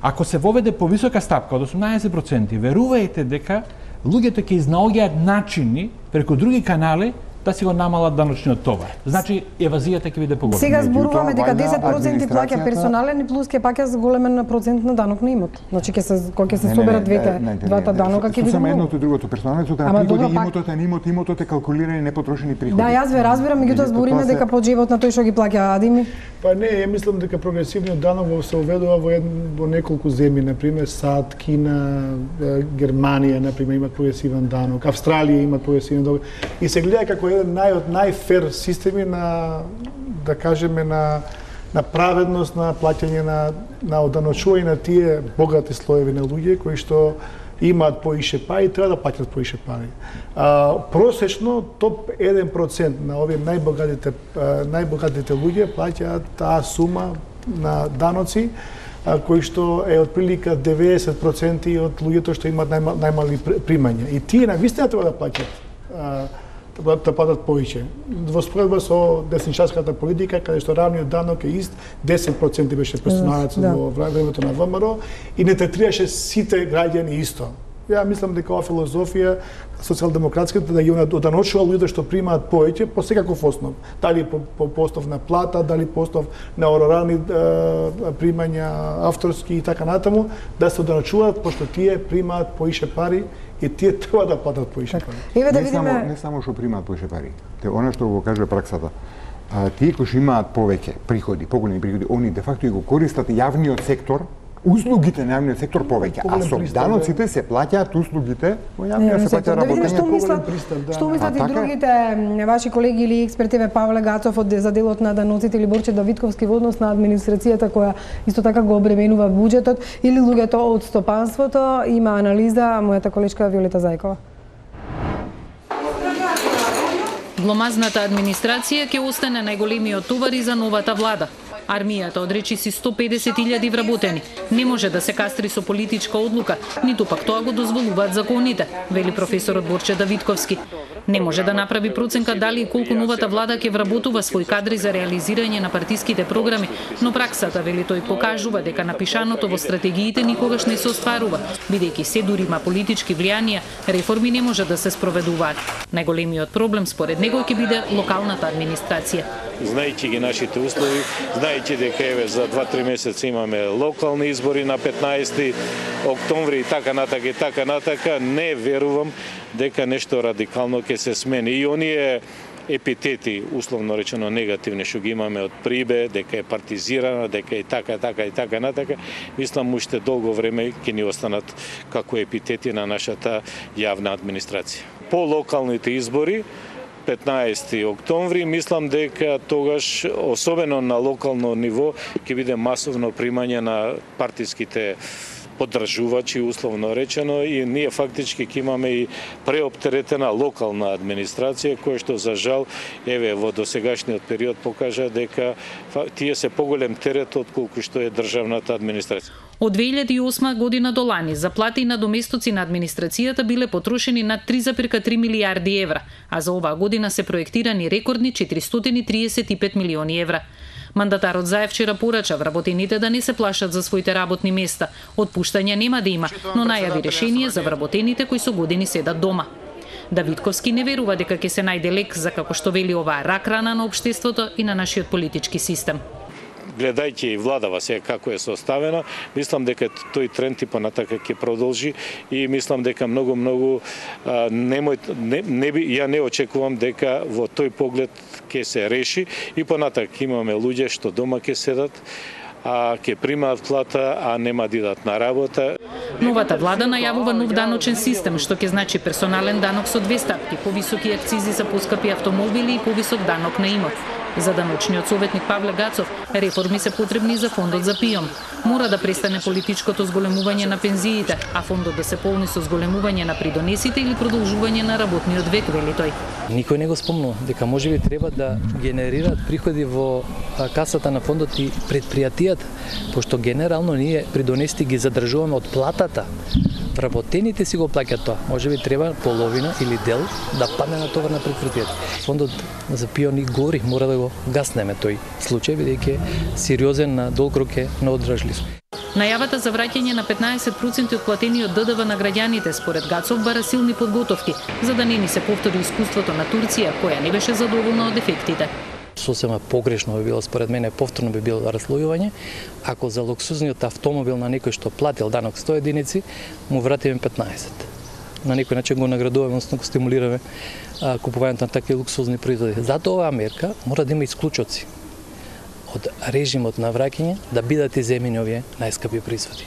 ако се воведе повисока стапка од осумнаесет проценти, верувајте дека луѓето ќе изнаоѓаат начини преку други канали да си го намалат даночниот товар. Значи, евазијата ќе биде поголема. Сега зборуваме дека вајда десет проценти плаќа администрацијата- персонален и плюс ќе паќа големен процент на данок на имот. Значи ќе се кога ќе се соберат двете двата данока ќе биде само многу. едното и другото персоналното Ама на добро, приходи, пак- имотот е на имот, имотот е калкулирани непотрошени приходи. Да, јас ве разбирам, меѓутоа Меѓутоа, збориме тоа се- дека по джебот на тој што ги плаќа Адими. Па не, ја мислам дека прогресивниот данок се уведува во, ед, во неколку земји, например САД, Кина, е, Германија, например, имаат прогресивен данок, Австралија имаат прогресивен данок. И се гледа како еден нај од најфер системи на, да кажеме, на на праведност на плаќање на на оданочување на тие богати слоеви на луѓе кои што имаат поише пари, треба да плаќат поише пари. А, просечно топ еден процент на овие најбогатите а, најбогатите луѓе плаќаат таа сума на даноци, а, кои што е отприлика деветдесет проценти од луѓето што имаат најма, најмали примања. И тие навистина треба да плаќат а, да да платат повеќе. Во споредба со десничарската политика, каде што равниот данок е ист, десет проценти беше персоналецот Да. во времето на ВМРО и не третираше сите граѓани исто. Ја мислам дека ова филозофија социјалдемократската да ги оданочува луѓето што примаат повеќе по секаков основ. Дали по, по, по основ на плата, дали по основ на орарни е, примања, авторски и така натаму, да се оданочуваат пошто тие примаат поише пари и тие треба да платат поише пари. Еве да не само видиме. не само што примаат поише пари. Те она што го кажува праксата. А, тие кои што имаат повеќе приходи, поголеми приходи, они де факто и го користат јавниот сектор, услугите на јавниот сектор повеќе, а Поголем со пристап, даноците се плаќаат услугите во јавниот се плаќа Да видиме што работење. мислат, Поголем пристап, да. што мислат А и така е. другите м, ваши колеги или експертиве, Павле Гацов од за делот на даноците или Борче Давидковски во однос на администрацијата која исто така го обременува буџетот или луѓето од стопанството. Има анализа мојата колешка Виолета Зајкова. Гломазната администрација ќе остане најголемиот товар и за новата влада. Армијата одречи си сто педесет илјади вработени. Не може да се кастри со политичка одлука, ниту пак тоа го дозволуваат законите, вели професорот Борче Давидковски. Не може да направи проценка дали и колку новата влада ќе вработува свој кадри за реализирање на партиските програми, но праксата, вели тој, покажува дека напишаното во стратегиите никогаш не се остварува, бидејќи се дури има политички влијанија, реформи не може да се спроведуваат. Најголемиот проблем според него ќе биде локалната администрација. Знаејќи ги нашите услови, знаејќи дека еве за два-три месеца имаме локални избори на петнаесети октомври и така натака и така натака, не верувам дека нешто радикално ќе се смени. И оние епитети, условно речено негативни, што ги имаме од Прибе, дека е партизирана, дека е така, така и така натака, мислам уште долго време ќе ни останат како епитети на нашата јавна администрација. По локалните избори, петнаесети октомври, мислам дека тогаш, особено на локално ниво, ќе биде масовно примање на партиските поддржувачи, условно речено, и ние фактички ќе имаме и преоптеретена локална администрација, која што за жал, еве, во досегашниот период покажа дека тие се поголем терет отколку што е државната администрација. Од две илјади и осма година до лани за плати и надоместоци на администрацијата биле потрошени над три зарез три милијарди евра, а за оваа година се проектирани рекордни четиристотини и триесет и пет милиони евра. Мандатарот Заев вчера порача вработените да не се плашат за своите работни места. Отпуштања нема да има, но најави решение за вработените кои со години седат дома. Давидковски не верува дека ќе се најде лек за, како што вели, оваа рак рана на општеството и на нашиот политички систем. Гледајќи и владава сега како е составена, мислам дека тој тренд и понатака ќе продолжи и мислам дека многу многу немој не, не би ја не очекувам дека во тој поглед ќе се реши и понатака имаме луѓе што дома ќе седат, а ќе примаат плата, а нема да идат на работа. Новата влада најавува нов даночен систем, што ќе значи персонален данок со две стапки, повисоки акцизи за поскапи автомобили и повисок данок на имот. За даночниот советник Павле Гацов, реформи се потребни за фондот за ПИОМ. Мора да престане политичкото зголемување на пензиите, а фондот да се полни со зголемување на придонесите или продолжување на работниот век, вели тој. Никој не го спомнува дека можеби треба да генерираат приходи во касата на фондот и предпријатијата, пошто генерално ние придонесите ги задржуваме од платата. Работените си го плаќаат тоа. Можеби треба половина или дел да падне на товар на предпријатијата. Фондот за ПИОН и гори, мора да го гаснеме тој случај, бидејќи сериозен на долг рок е неодржлив. Најавата за враќање на петнаесет проценти од платениот ДДВ на граѓаните според Гацов бара силни подготовки, за да не ни се повтори искуството на Турција, која не беше задоволна од ефектите. Сосема погрешно би било, според мене, повторно би било разслојување, ако за луксузниот автомобил на некој што платил данок сто единици, му вратиме петнаесет. На некој начин го наградуваме, односно го стимулираме а, купувањето на такви луксузни производи. Затоа оваа мерка мора да има исклучоци од режимот на враќање да бидат иземени овие најскапи производи.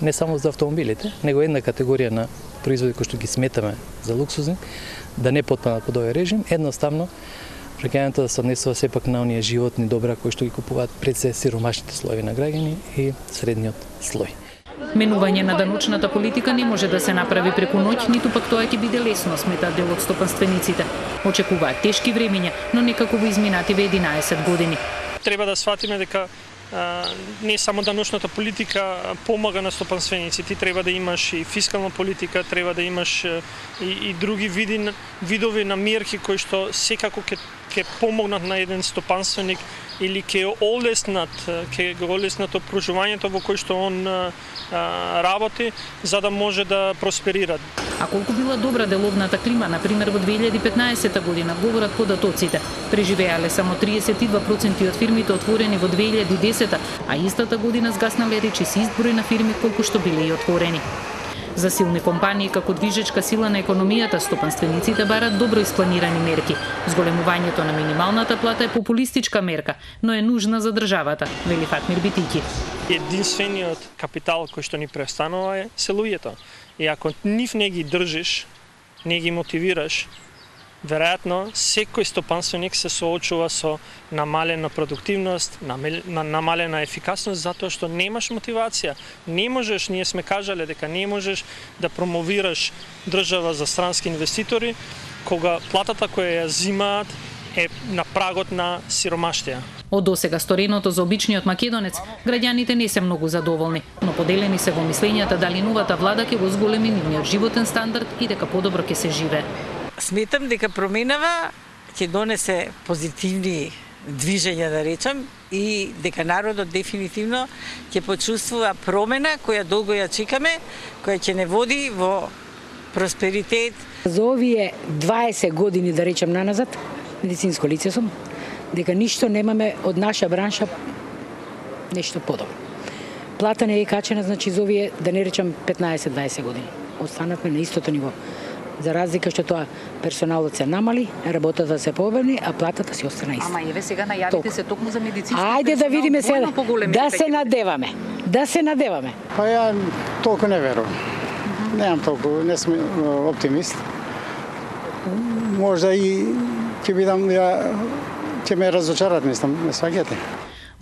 Не само за автомобилите, него една категорија на производи кои што ги сметаме за луксузни, да не потпаднат под овој режим, едноставно враќањето да се однесува сепак на оние животни добра кои што ги купуваат пред се сиромашните слоеви на граѓани и средниот слој. Менување на даночната политика не може да се направи преку ноќ, ниту пак тоа ќе биде лесно, сметаат дел од стопанствениците. Очекуваат тешки времиња, но некако во изминативе единаесет години. Треба да сватиме дека а, не само даночната политика помага на стопанственици, ти треба да имаш и фискална политика, треба да имаш и, и други види, видови на мерки кои што секако ќе ќе помогнат на еден стопанственик или ќе олеснат, ќе го олеснат опружувањето во кој што он а, работи, за да може да просперира. А колку била добра деловната клима, например во две илјади и петнаесета година, говорат податоците. Преживеале само триесет и два проценти од фирмите отворени во две илјади и десета, а истата година згаснале речиси изброј на фирми колку што биле и отворени. За силни компании како движечка сила на економијата, стопанствениците барат добро испланирани мерки. Зголемувањето на минималната плата е популистичка мерка, но е нужна за државата, вели Фатмир Битики. Единствениот капитал кој што ни престанува е се луѓето. И ако нив не ги држиш, не ги мотивираш, веројатно секој стопанственик се соочува со намалена продуктивност, намалена ефикасност, затоа што немаш мотивација. Не можеш, ние сме кажале дека не можеш да промовираш држава за странски инвеститори, кога платата која ја зимаат е на прагот на сиромаштија. Од досега стореното за обичниот македонец, граѓаните не се многу задоволни, но поделени се во мислењата дали новата влада ќе го зголеми нивниот животен стандард и дека подобро ќе се живее. Сметам дека променава ќе донесе позитивни движења, да речам, и дека народот дефинитивно ќе почувствува промена која долго ја чекаме, која ќе не води во просперитет. За овие дваесет години, да речем наназад, медицинско лице сум, дека ништо немаме од наша бранша нешто подобро. Плата не е качена, значи за овие, да не речам петнаесет-дваесет години. Останавме на истото ниво. За разлика што тоа персоналот се намали, работата се пообемни, а платата си остана иста. Ама еве сега најавите се токму за медицински персонал. Ајде да видиме сега, да се надеваме, да се надеваме. Па ја толку не верувам. Mm-hmm. Немам толку, не сум оптимист. Можда и ќе бидам, ја, ќе ме разочарат, мислам, не сваѓате.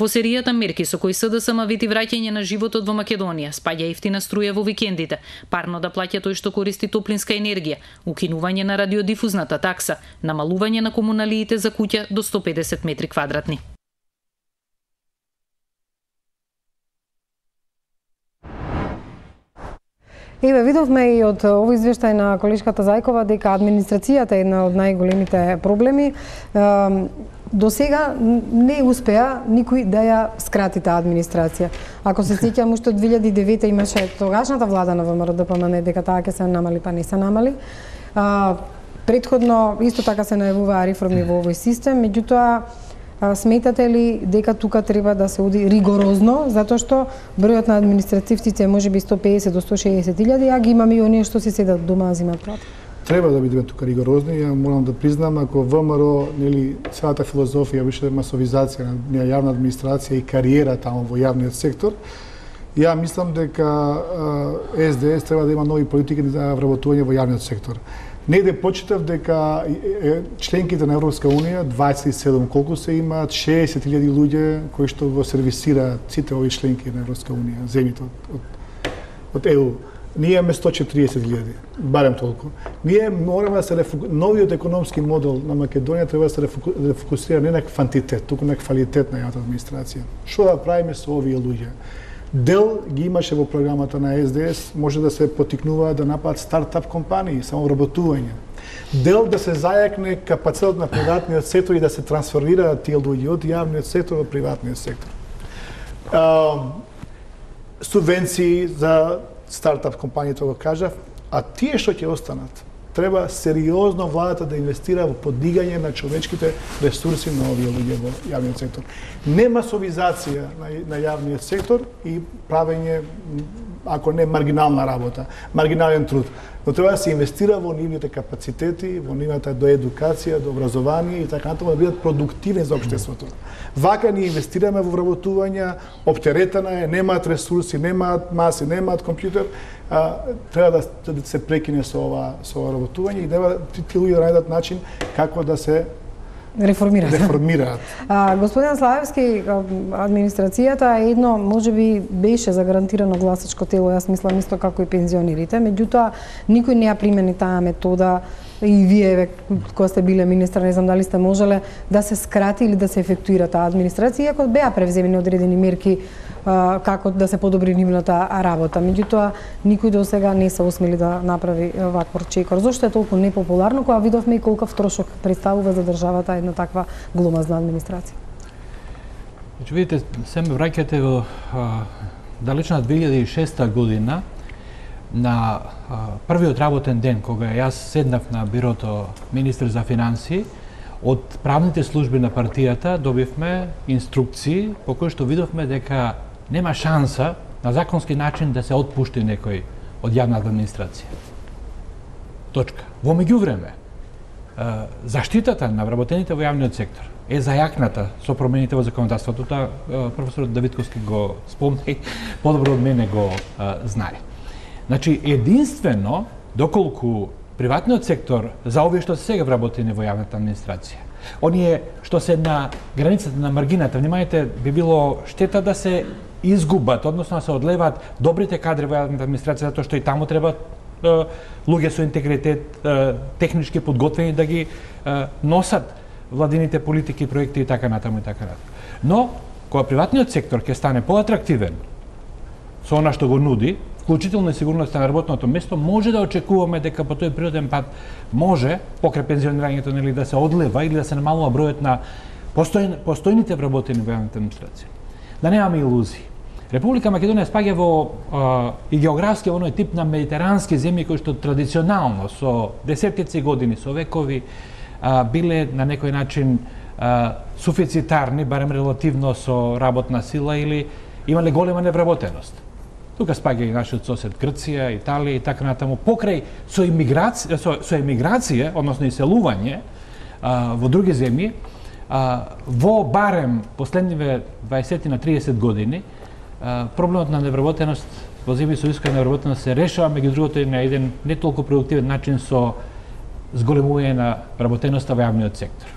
Во серијата мерки со кои СДСМ вети враќање на животот во Македонија, спаѓа ефтина струја во викендите, парно да плаќа тој што користи топлинска енергија, укинување на радиодифузната такса, намалување на комуналиите за куќа до сто педесет метри квадратни. Еве, видовме и од овој извештај на колешката Зајкова дека администрацијата е една од најголемите проблеми. До сега не успеа никој да ја скрати таа администрација. Ако се сеќам, уште од две илјади и девета имаше тогашната влада на ВМРО ДПМН дека таа ќе се намали, па не се намали. А, Претходно исто така се најавуваа реформи во овој систем, меѓутоа сметате ли дека тука треба да се оди ригорозно, затоа што бројот на административците може би сто педесет до сто шеесет илјади, а ги имаме и оние што се седат дома а земат плата? Треба да бидеме тука ригорозни. Ја морам да признам, ако ВМРО, нели, целата филозофија беше масовизација на јавна администрација и кариера таму во јавниот сектор, ја мислам дека Ес Де Ес треба да има нови политики за вработување во јавниот сектор. Негде почитав дека членките на Европска унија, дваесет и седум колку се имаат, шеесет илјади луѓе кои што го сервисираат сите овие членки на Европска унија, земјите од, од, од Е У. Ние имаме сто четириесет илјади, барем толку. Ние мораме да се рефуку... новиот економски модел на Македонија треба да се рефуку... рефокусира не на квантитет, туку на квалитет на јавната администрација. Што да правиме со овие луѓе? Дел ги имаше во програмата на Ес Де Ес, може да се потикнува да направат стартап компании, самовработување. Дел да се зајакне капацитет на приватниот сектор и да се трансферираат тие луѓе од јавниот сектор во приватниот сектор. Uh, субвенции за стартап компании, тоа го кажав, а тие што ќе останат, треба сериозно владата да инвестира во подигање на човечките ресурси на овие луѓе во јавниот сектор. Не масовизација на, на јавниот сектор и правење, ако не маргинална работа, маргинален труд, но треба да се инвестира во нивните капацитети, во нивната до едукација, до образование и така натаму да бидат продуктивни за општеството. Вака ни инвестираме во вработување, оптеретена е, немаат ресурси, немаат маси, немаат компјутер, а, треба да, да се прекине со ова со ова работување и да ти луѓе да најдат начин како да се реформираат. реформираат. А, господин Славевски, администрацијата едно можеби беше загарантирано гласачко тело, јас мислам исто како и пензионерите, меѓутоа никој не ја примени таа метода и вие кога сте биле министар, не знам дали сте можеле да се скрати или да се ефектуира таа администрација, иако беа превземени одредени мерки а, како да се подобри нивната работа. Меѓутоа никој до сега не се усмели да направи ваков чекор. Зошто е толку непопуларно кога видовме и колкав трошок представува за државата една таква гломазна администрација? Значи, видите, се ме враќате во а, далечна две илјади и шеста година, на а, првиот работен ден, кога јас седнав на бирото министер за финансии, од правните служби на партијата добивме инструкции по кои што видовме дека нема шанса на законски начин да се отпушти некој од јавната администрација. Точка. Во меѓувреме, заштитата на вработените во јавниот сектор е зајакната со промените во законодавството. Тоа професорот Давидковски го спомна и подобро од мене го а, знае. Значи, единствено, доколку приватниот сектор за овие што се сега вработени во јавната администрација, оние што се на границата на маргината, внимајте, би било штета да се изгубат, односно да се одлеваат добрите кадри во јавната администрација, затоа што и таму треба луѓе со интегритет, технички подготвени да ги носат владините политики, проекти и така натаму и така натаму. Но, кога приватниот сектор ќе стане поатрактивен со она што го нуди, вклучително и сигурноста на работното место, може да очекуваме дека по тој природен пат може, покрај пензионирањето, нели, да се одлева или да се намалува бројот на постојн, постојните вработени во јавната администрација. Да немаме илузии. Република Македонија спаѓа во а, и географски во оној тип на медитерански земји кои што традиционално со десеттици години, со векови а, биле на некој начин а, суфицитарни, барем релативно со работна сила или имале голема невработеност. Тука спаѓа и нашиот сосед Грција, Италија и така натаму. Покрај со емиграција, со, со емиграција, односно иселување а, во други земји, а, во барем последниве дваесет на триесет години, а, проблемот на невработеност во земји со висока невработеност се решава, меѓу другото и на еден не толку продуктивен начин со зголемување на вработеноста во јавниот сектор.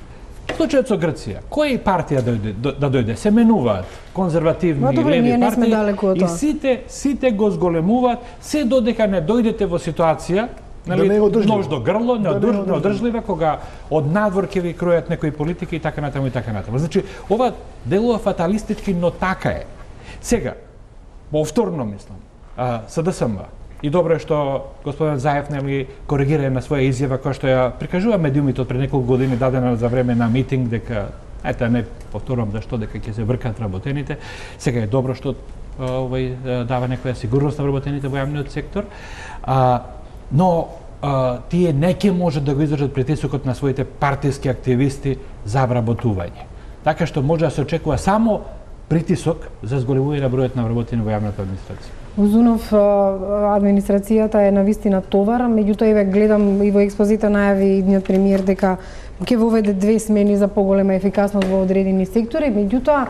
Случајот со Грција, која партија дојде, да дојде, се менуваат конзервативни и леви партии и сите, сите го зголемуваат, се додека не дојдете во ситуација, нали, да нож до грло, неодржлива, кога од надвор ќе ви кројат некои политики и така натаму и така натаму. Значи, ова делува фаталистички, но така е. Сега, повторно мислам, СДСМ, и добро е што господин Заев нели коригира на своја изјава која што ја прикажува медиумите од пред неколку години дадена за време на митинг дека ете не повторувам зашто дека ќе се вркат вработените. Сега е добро што овој дава некоја сигурност на вработените во јавниот сектор. А, но а, тие не ќе можат да го издржат притисокот на своите партиски активисти за вработување. Така што може да се очекува само притисок за зголемување на бројот на вработени во јавната администрација. Узунов, администрацијата е навистина товар, меѓутоа еве гледам и во експозита најави идниот премиер дека ќе воведе две смени за поголема ефикасност во одредени сектори, меѓутоа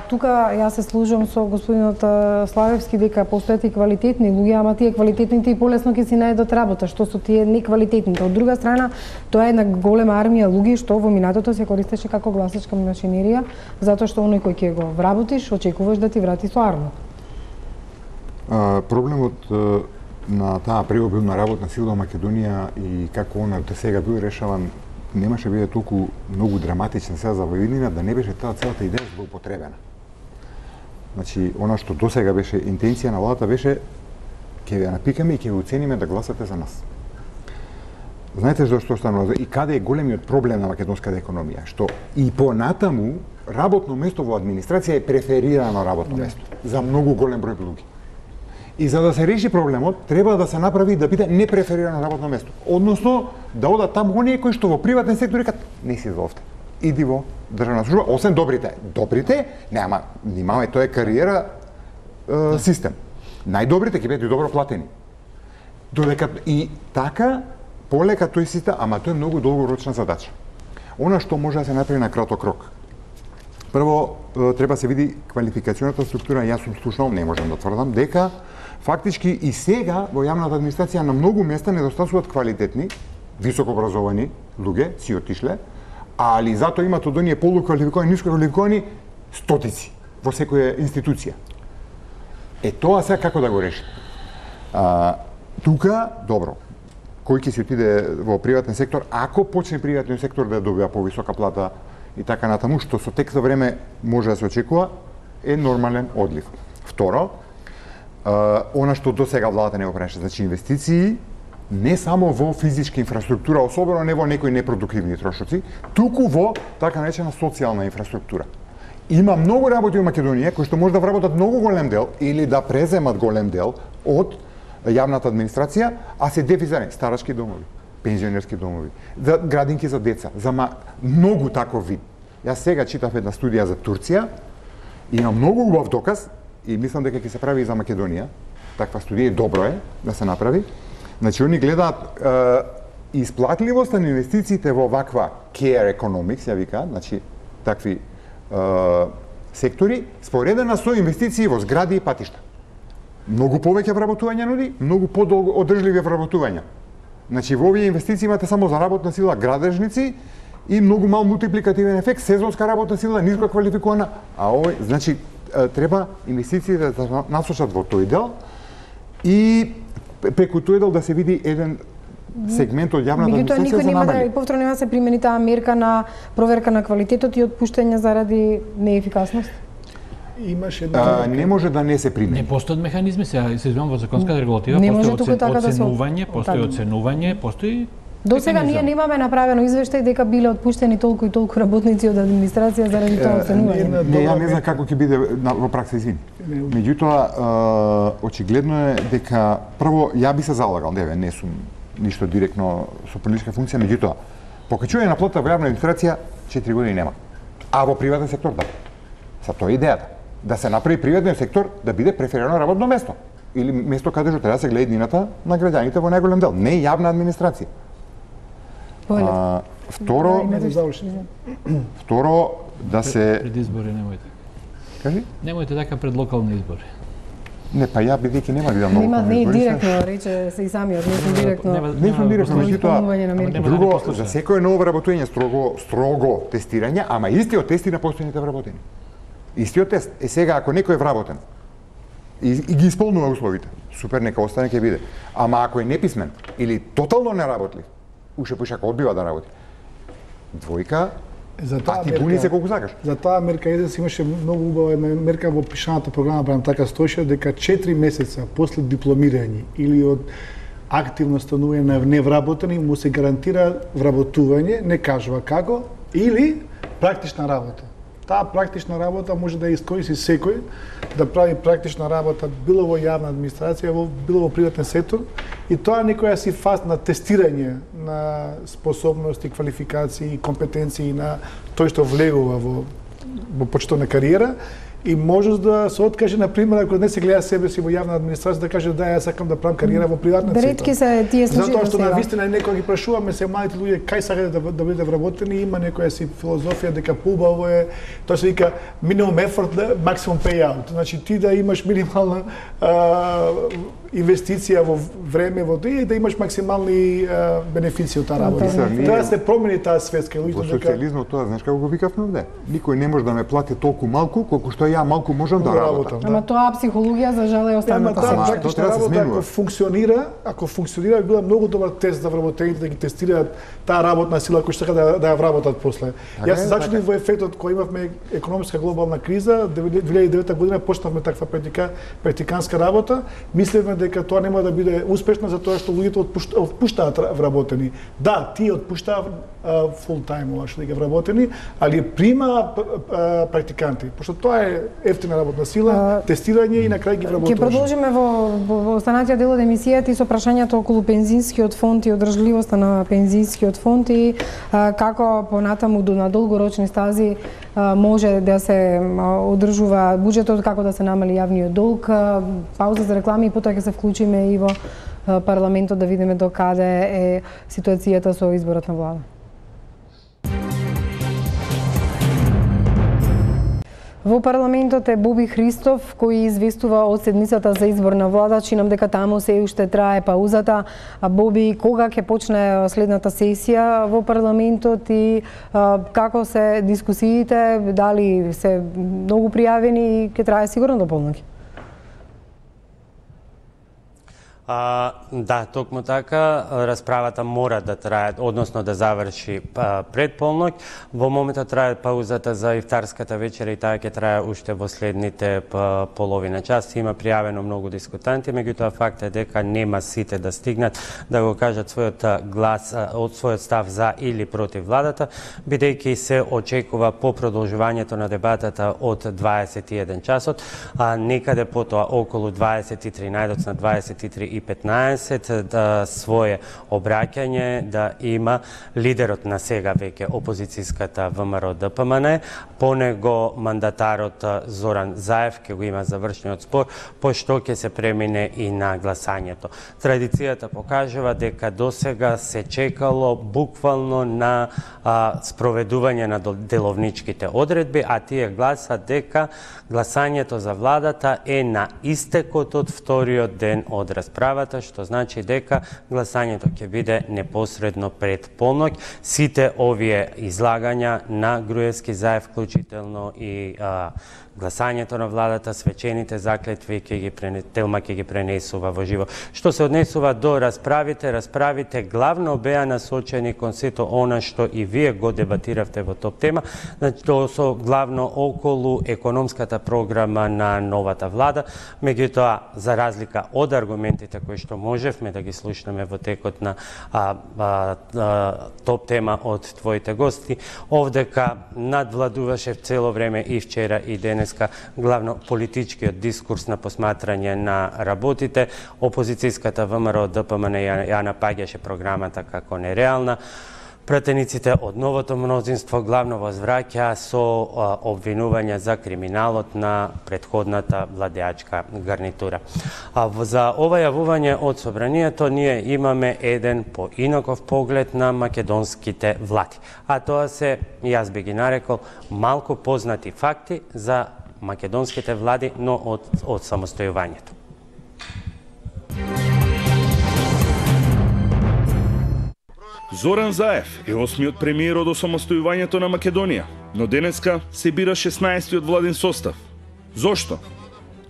тука јас се служам со господинот Славевски дека постојат и квалитетни луѓе, ама тие квалитетните и полесно ќе си најдат работа, што со тие неквалитетните. Од друга страна, тоа е една голема армија луѓе што во минатото се користеше како гласачка машинерија, затоа што оној кој ќе го вработиш, очекуваш да ти врати со арно. Проблемот на таа преобилна работна сила во Македонија и како она до сега бил решаван немаше биде толку многу драматичен сега за војнина да не беше таа целата идеја злоупотребена. Значи, она што до сега беше интенција на владата беше ќе ја напикаме и ќе ја оцениме да гласате за нас. Знаете зашто станува и каде е големиот проблем на македонската економија, што и понатаму работно место во администрација е преферирано работно место за многу голем број луѓе. И за да се реши проблемот, треба да се направи да биде непреферирано работно место. Односно, да одат таму оние кои што во приватен сектор викат не си за овде. Иди во државна служба, освен добрите. Добрите, нема, немаме, тоа е кариера е, систем. Најдобрите ќе бидат и добро платени. Додека и така полека тој систем, ама тоа е многу долгорочна задача. Она што може да се направи на краток рок. Прво, треба се види квалификационата структура, јас сум слушнал, не можам да тврдам, дека фактички и сега во јавната администрација на многу места недостасуваат квалитетни, високо образовани луѓе, си отишле, али затоа имат од оние полуквалификовани, нискоквалификовани стотици во секоја институција. Е тоа сега како да го реши? А, тука, добро, кој ќе си отиде во приватен сектор, ако почне приватниот сектор да добива повисока плата и така натаму, што со тек за време може да се очекува, е нормален одлив. Второ, Uh, она што до сега владата не го правеше, значи инвестиции не само во физичка инфраструктура, особено не во некои непродуктивни трошоци, туку во така наречена социјална инфраструктура. Има многу работи во Македонија кои што може да вработат многу голем дел или да преземат голем дел од јавната администрација, а се дефицирани старачки домови, пензионерски домови, за градинки за деца, за ма... многу таков вид. Јас сега читав една студија за Турција и има многу убав доказ и мислам дека ќе се прави и за Македонија. Таква студија и добро е да се направи. Значи, они гледаат е, исплатливоста на инвестициите во ваква care economics, ја вика, значи, такви е, сектори, споредена со инвестиции во згради и патишта. Многу повеќе вработување нуди, многу подолго одржливи вработувања. Значи, во овие инвестиции имате само за работна сила градежници и многу мал мултипликативен ефект, сезонска работна сила, ниско квалификувана, а овој, значи, треба инвестициите да насочат во тој дел и преку тој дел да се види еден сегмент од јавната администрација за намали. Да, повторно нема се примени таа мерка на проверка на квалитетот и отпуштање заради неефикасност? Имаше една... Не може да не се примени. Не постојат механизми, сега се извинувам во законската регулатива, постои оценување, постои оценување, постои До сега ние немаме направено извештај дека биле отпуштени толку и толку работници од администрација заради тоа оценување. Не, ја не знам како ќе биде во пракса, извини. Меѓутоа, очигледно е дека прво ја би се залагал, не, не сум ништо директно со политичка функција, меѓутоа покачување на плата во јавна администрација четири години нема. А во приватен сектор да. Са тоа е идејата. Да се направи приватниот сектор да биде преферирано работно место или место каде што треба да се гледа иднината на граѓаните во најголем дел, не јавна администрација. А, второ, второ да се пред избори немојте. Кажи? Немојте така пред локални избори. Не, па ја бидејќи нема да идам на локални избори. Не директно рече се и самиот, не сум директно. Не сум директно, меѓутоа друго за секое ново вработување строго строго тестирање, ама истиот тест и на постојните вработени. Истиот тест. Е сега ако некој е вработен и, и ги исполнува условите, супер, нека остане ќе биде. Ама ако е неписмен или тотално неработлив, уште поише одбива да работи. Двојка, за таа а ти буни се колку сакаш. За таа мерка еден си имаше многу убава мерка во пишаната програма, барем така стоеше, дека четири месеца после дипломирање или од активно станување на невработени му се гарантира вработување, не кажува како, или практична работа. Таа практична работа може да искористи секој да прави практична работа било во јавна администрација, било во приватен сектор, И тоа некоја си фаз на тестирање на способности, квалификации, компетенции на тој што влегува во, во почетна кариера, и може да се откаже, например, ако не се гледа себе си во јавна администрација, да каже да, јас сакам да правам кариера во приватниот сектор. Ретки се тие случаи. Затоа што на вистина некој ги прашуваме се младите луѓе кај сакаат да, да бидете вработени, има некоја си филозофија дека поубаво е, тоа се вика minimum effort, maximum payout. Значи ти да имаш минимална а, инвестиција во време во и да имаш максимални а, бенефиции од таа работа. Треба да се промени таа свест кај луѓето. Во социјализмот тоа знаеш како го викавме овде? Никој не може да ме плати толку малку колку што ја малку можам да работам. Ама тоа психологија за жал е останата сега. сега. Тоа треба да се смени. Ако функционира, ако функционира, би била многу добар тест за вработените да ги тестираат таа работна сила која што сака да да ја вработат после. Јас се зачудив во ефектот кој имавме економска глобална криза, две илјади и девета година почнавме таква практика, практиканска работа, мислевме дека тоа нема да биде успешно затоа што луѓето отпуштаат вработени. Да, тие отпуштаат фул тајм оваа што ги вработени, али прима практиканти, пошто тоа е ефтина работна сила, тестирање и на крај ги вработуваш. Ќе продолжиме во, во, во останатиот дел од емисијата и со прашањето околу пензинскиот фонд и одржливоста на пензинскиот фонд и а, како понатаму до на долгорочни стази а, може да се одржува буџетот, како да се намали јавниот долг. А, пауза за реклами и потоа ќе се вклучиме и во а, парламентот да видиме до каде е ситуацијата со изборот на влада. Во парламентот е Боби Христов, кој известува од седмицата за избор на влада. Чинам дека таму се уште трае паузата. А Боби, кога ќе почне следната сесија во парламентот и а, како се дискусиите, дали се многу пријавени и ќе трае сигурно до полноќ? А, да, токму така, расправата мора да трае, односно да заврши а, пред полноќ. Во моментот трае паузата за ифтарската вечера и таа ќе трае уште во следните па, половина час. Има пријавено многу дискутанти, меѓутоа факт е дека нема сите да стигнат да го кажат својот глас, од својот став за или против владата, бидејќи се очекува по продолжувањето на дебатата од дваесет и еден часот, а некаде потоа околу дваесет и три, најдоцна дваесет и три и петнаесет да свое обраќање да има лидерот на сега веќе опозицијската ВМРО Д П М Н, по него мандатарот Зоран Заев ќе го има завршниот спор, пошто ќе се премине и на гласањето. Традицијата покажува дека досега се чекало буквално на а, спроведување на деловничките одредби, а тие гласат дека гласањето за владата е на истекот од вториот ден од расправата, што значи дека гласањето ќе биде непосредно пред полноќ. Сите овие излагања на Груевски, Заев, вклучително и а, гласањето на владата, свечените заклетви ќе ги пренесува, Телма ќе ги пренесува во живо. Што се однесува до расправите, расправите главно беа насочени кон сето она што и вие го дебатиравте во топ тема, значи тоа со главно околу економската програма на новата влада, меѓутоа за разлика од аргументите кои што можевме да ги слушнеме во текот на а, а, а, топ тема од твоите гости, овдека надвладуваше цело време и вчера и денес главно политичкиот дискурс на посматрање на работите. Опозицијската ВМРО Д П М Н ја, ја напаѓаше програмата како нереална. Пратениците од новото мнозинство главно возвраќаа со а, обвинување за криминалот на претходната владеачка гарнитура. А за ова јавување од собранието ние имаме еден поинаков поглед на македонските влади. А тоа се, јас би ги нарекол, малку познати факти за македонските влади, но од, од самостојувањето. Зоран Заев е осмиот премиер од осамостојувањето на Македонија, но денеска се бира шеснаесеттиот владин состав. Зошто?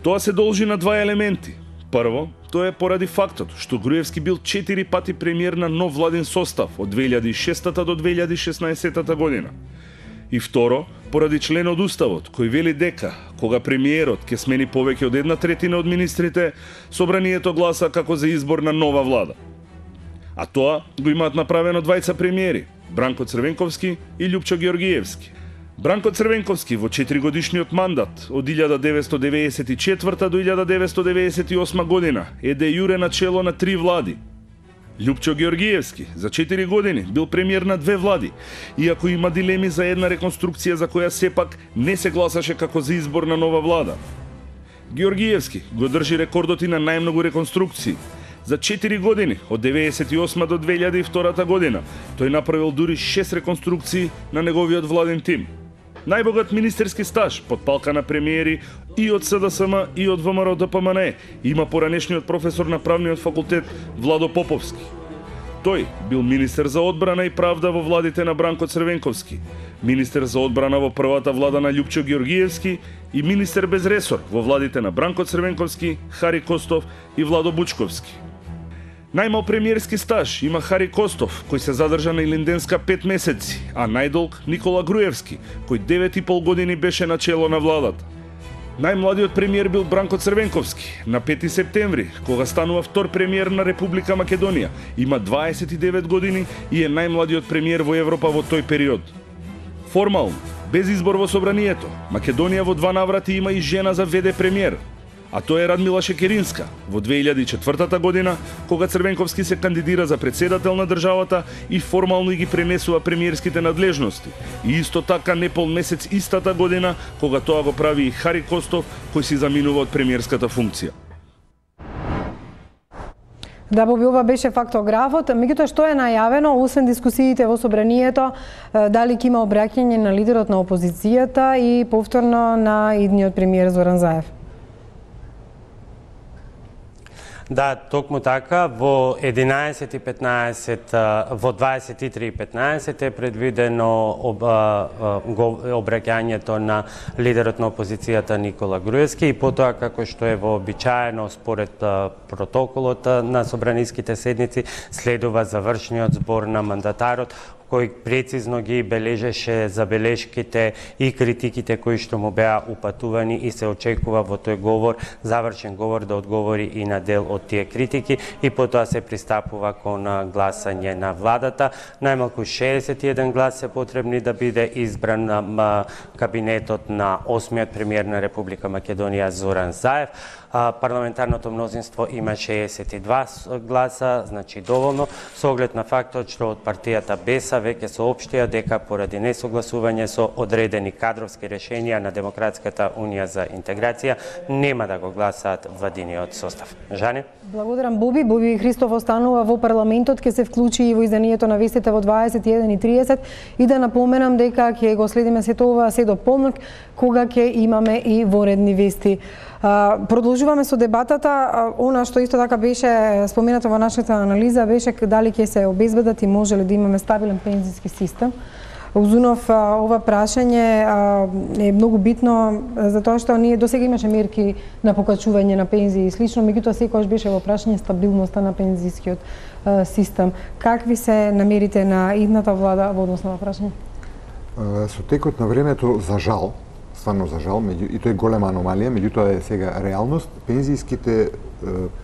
Тоа се должи на два елементи. Прво, тоа е поради фактот што Груевски бил четири пати премиер на нов владин состав од две илјади и шестата до две илјади и шеснаесетата година. И второ, поради член од Уставот, кој вели дека, кога премиерот ќе смени повеќе од една третина од министрите, собранието гласа како за избор на нова влада. А тоа го имаат направено двајца премиери, Бранко Црвенковски и Љупчо Георгиевски. Бранко Црвенковски во четиригодишниот мандат од илјада деветстотини деветдесет и четврта до илјада деветстотини деветдесет и осма година е де јуре начело на три влади. Лјупчо Георгиевски за четири години бил премиер на две влади, иако има дилеми за една реконструкција за која сепак не се гласаше како за избор на нова влада. Георгиевски го држи рекордот и на најмногу реконструкции. За четири години, од деветдесет и осма до две илјади и втора година, тој направил дури шест реконструкции на неговиот владен тим. Најбогат министерски стаж под палка на премиери и од СДСМ и од ВМРО Д П М Н Е има поранешниот професор на правниот факултет Владо Поповски. Тој бил министер за одбрана и правда во владите на Бранко Црвенковски, министер за одбрана во првата влада на Лјупчо Георгиевски и министер без ресор во владите на Бранко Црвенковски, Хари Костов и Владо Бучковски. Најмал премиерски стаж има Хари Костов, кој се задржа на Илинденска пет месеци, а најдолг Никола Груевски, кој девет и пол години беше на чело на владата. Најмладиот премиер бил Бранко Црвенковски, на пети септември, кога станува втор премиер на Република Македонија, има дваесет и девет години и е најмладиот премиер во Европа во тој период. Формално, без избор во собранието, Македонија во два наврати има и жена за веде премиер, а тоа е Радмила Шекеринска, во две илјади и четвртата година, кога Црвенковски се кандидира за претседател на државата и формално ги пренесува премиерските надлежности. И исто така непол месец истата година, кога тоа го прави и Хари Костов, кој си заминува од премиерската функција. Да, Боби, ова беше фактографот. Меѓутоа, што е најавено, освен дискусиите во собранието, дали ќе има обраќање на лидерот на опозицијата и повторно на идниот премиер Зоран Заев? Да, токму така, во единаесет и петнаесет, во дваесет и три и петнаесет е предвидено об, обраќањето на лидерот на опозицијата Никола Груевски и потоа, како што е вообичаено според протоколот на собраниските седници, следува завршниот збор на мандатарот, кој прецизно ги бележеше забелешките и критиките кои што му беа упатувани и се очекува во тој говор, завршен говор, да одговори и на дел од тие критики и потоа се пристапува кон гласање на владата. Најмалку шеесет и еден глас се потребни да биде избран на кабинетот на осмиот премиер на Република Македонија Зоран Заев. Парламентарното мнозинство има шеесет и два гласа, значи доволно, со оглед на фактот што од партијата Беса веќе соопштија дека поради несогласување со одредени кадровски решенија на Демократската унија за интеграција нема да го гласаат владиниот состав. Жане? Благодарам, Боби. Боби Христов останува во парламентот, ќе се вклучи и во изданието на вестите во дваесет и еден и триесет и да напоменам дека ќе го следиме сето ова се до полнок, кога ќе имаме и воредни вести. Продолжуваме со дебатата. Она што исто така беше споменато во нашата анализа беше дали ќе се обезбедат и може ли да имаме стабилен пензиски систем. Узунов, ова прашање е многу битно затоа што ние досега имаше мерки на покачување на пензии и слично, меѓутоа секогаш беше во прашање стабилноста на пензискиот систем. Какви се намерите на идната влада во однос на ова прашање? Со текот на времето, за жал, стварно за жал, и тоа е голема аномалија, меѓутоа е сега реалност, пензииските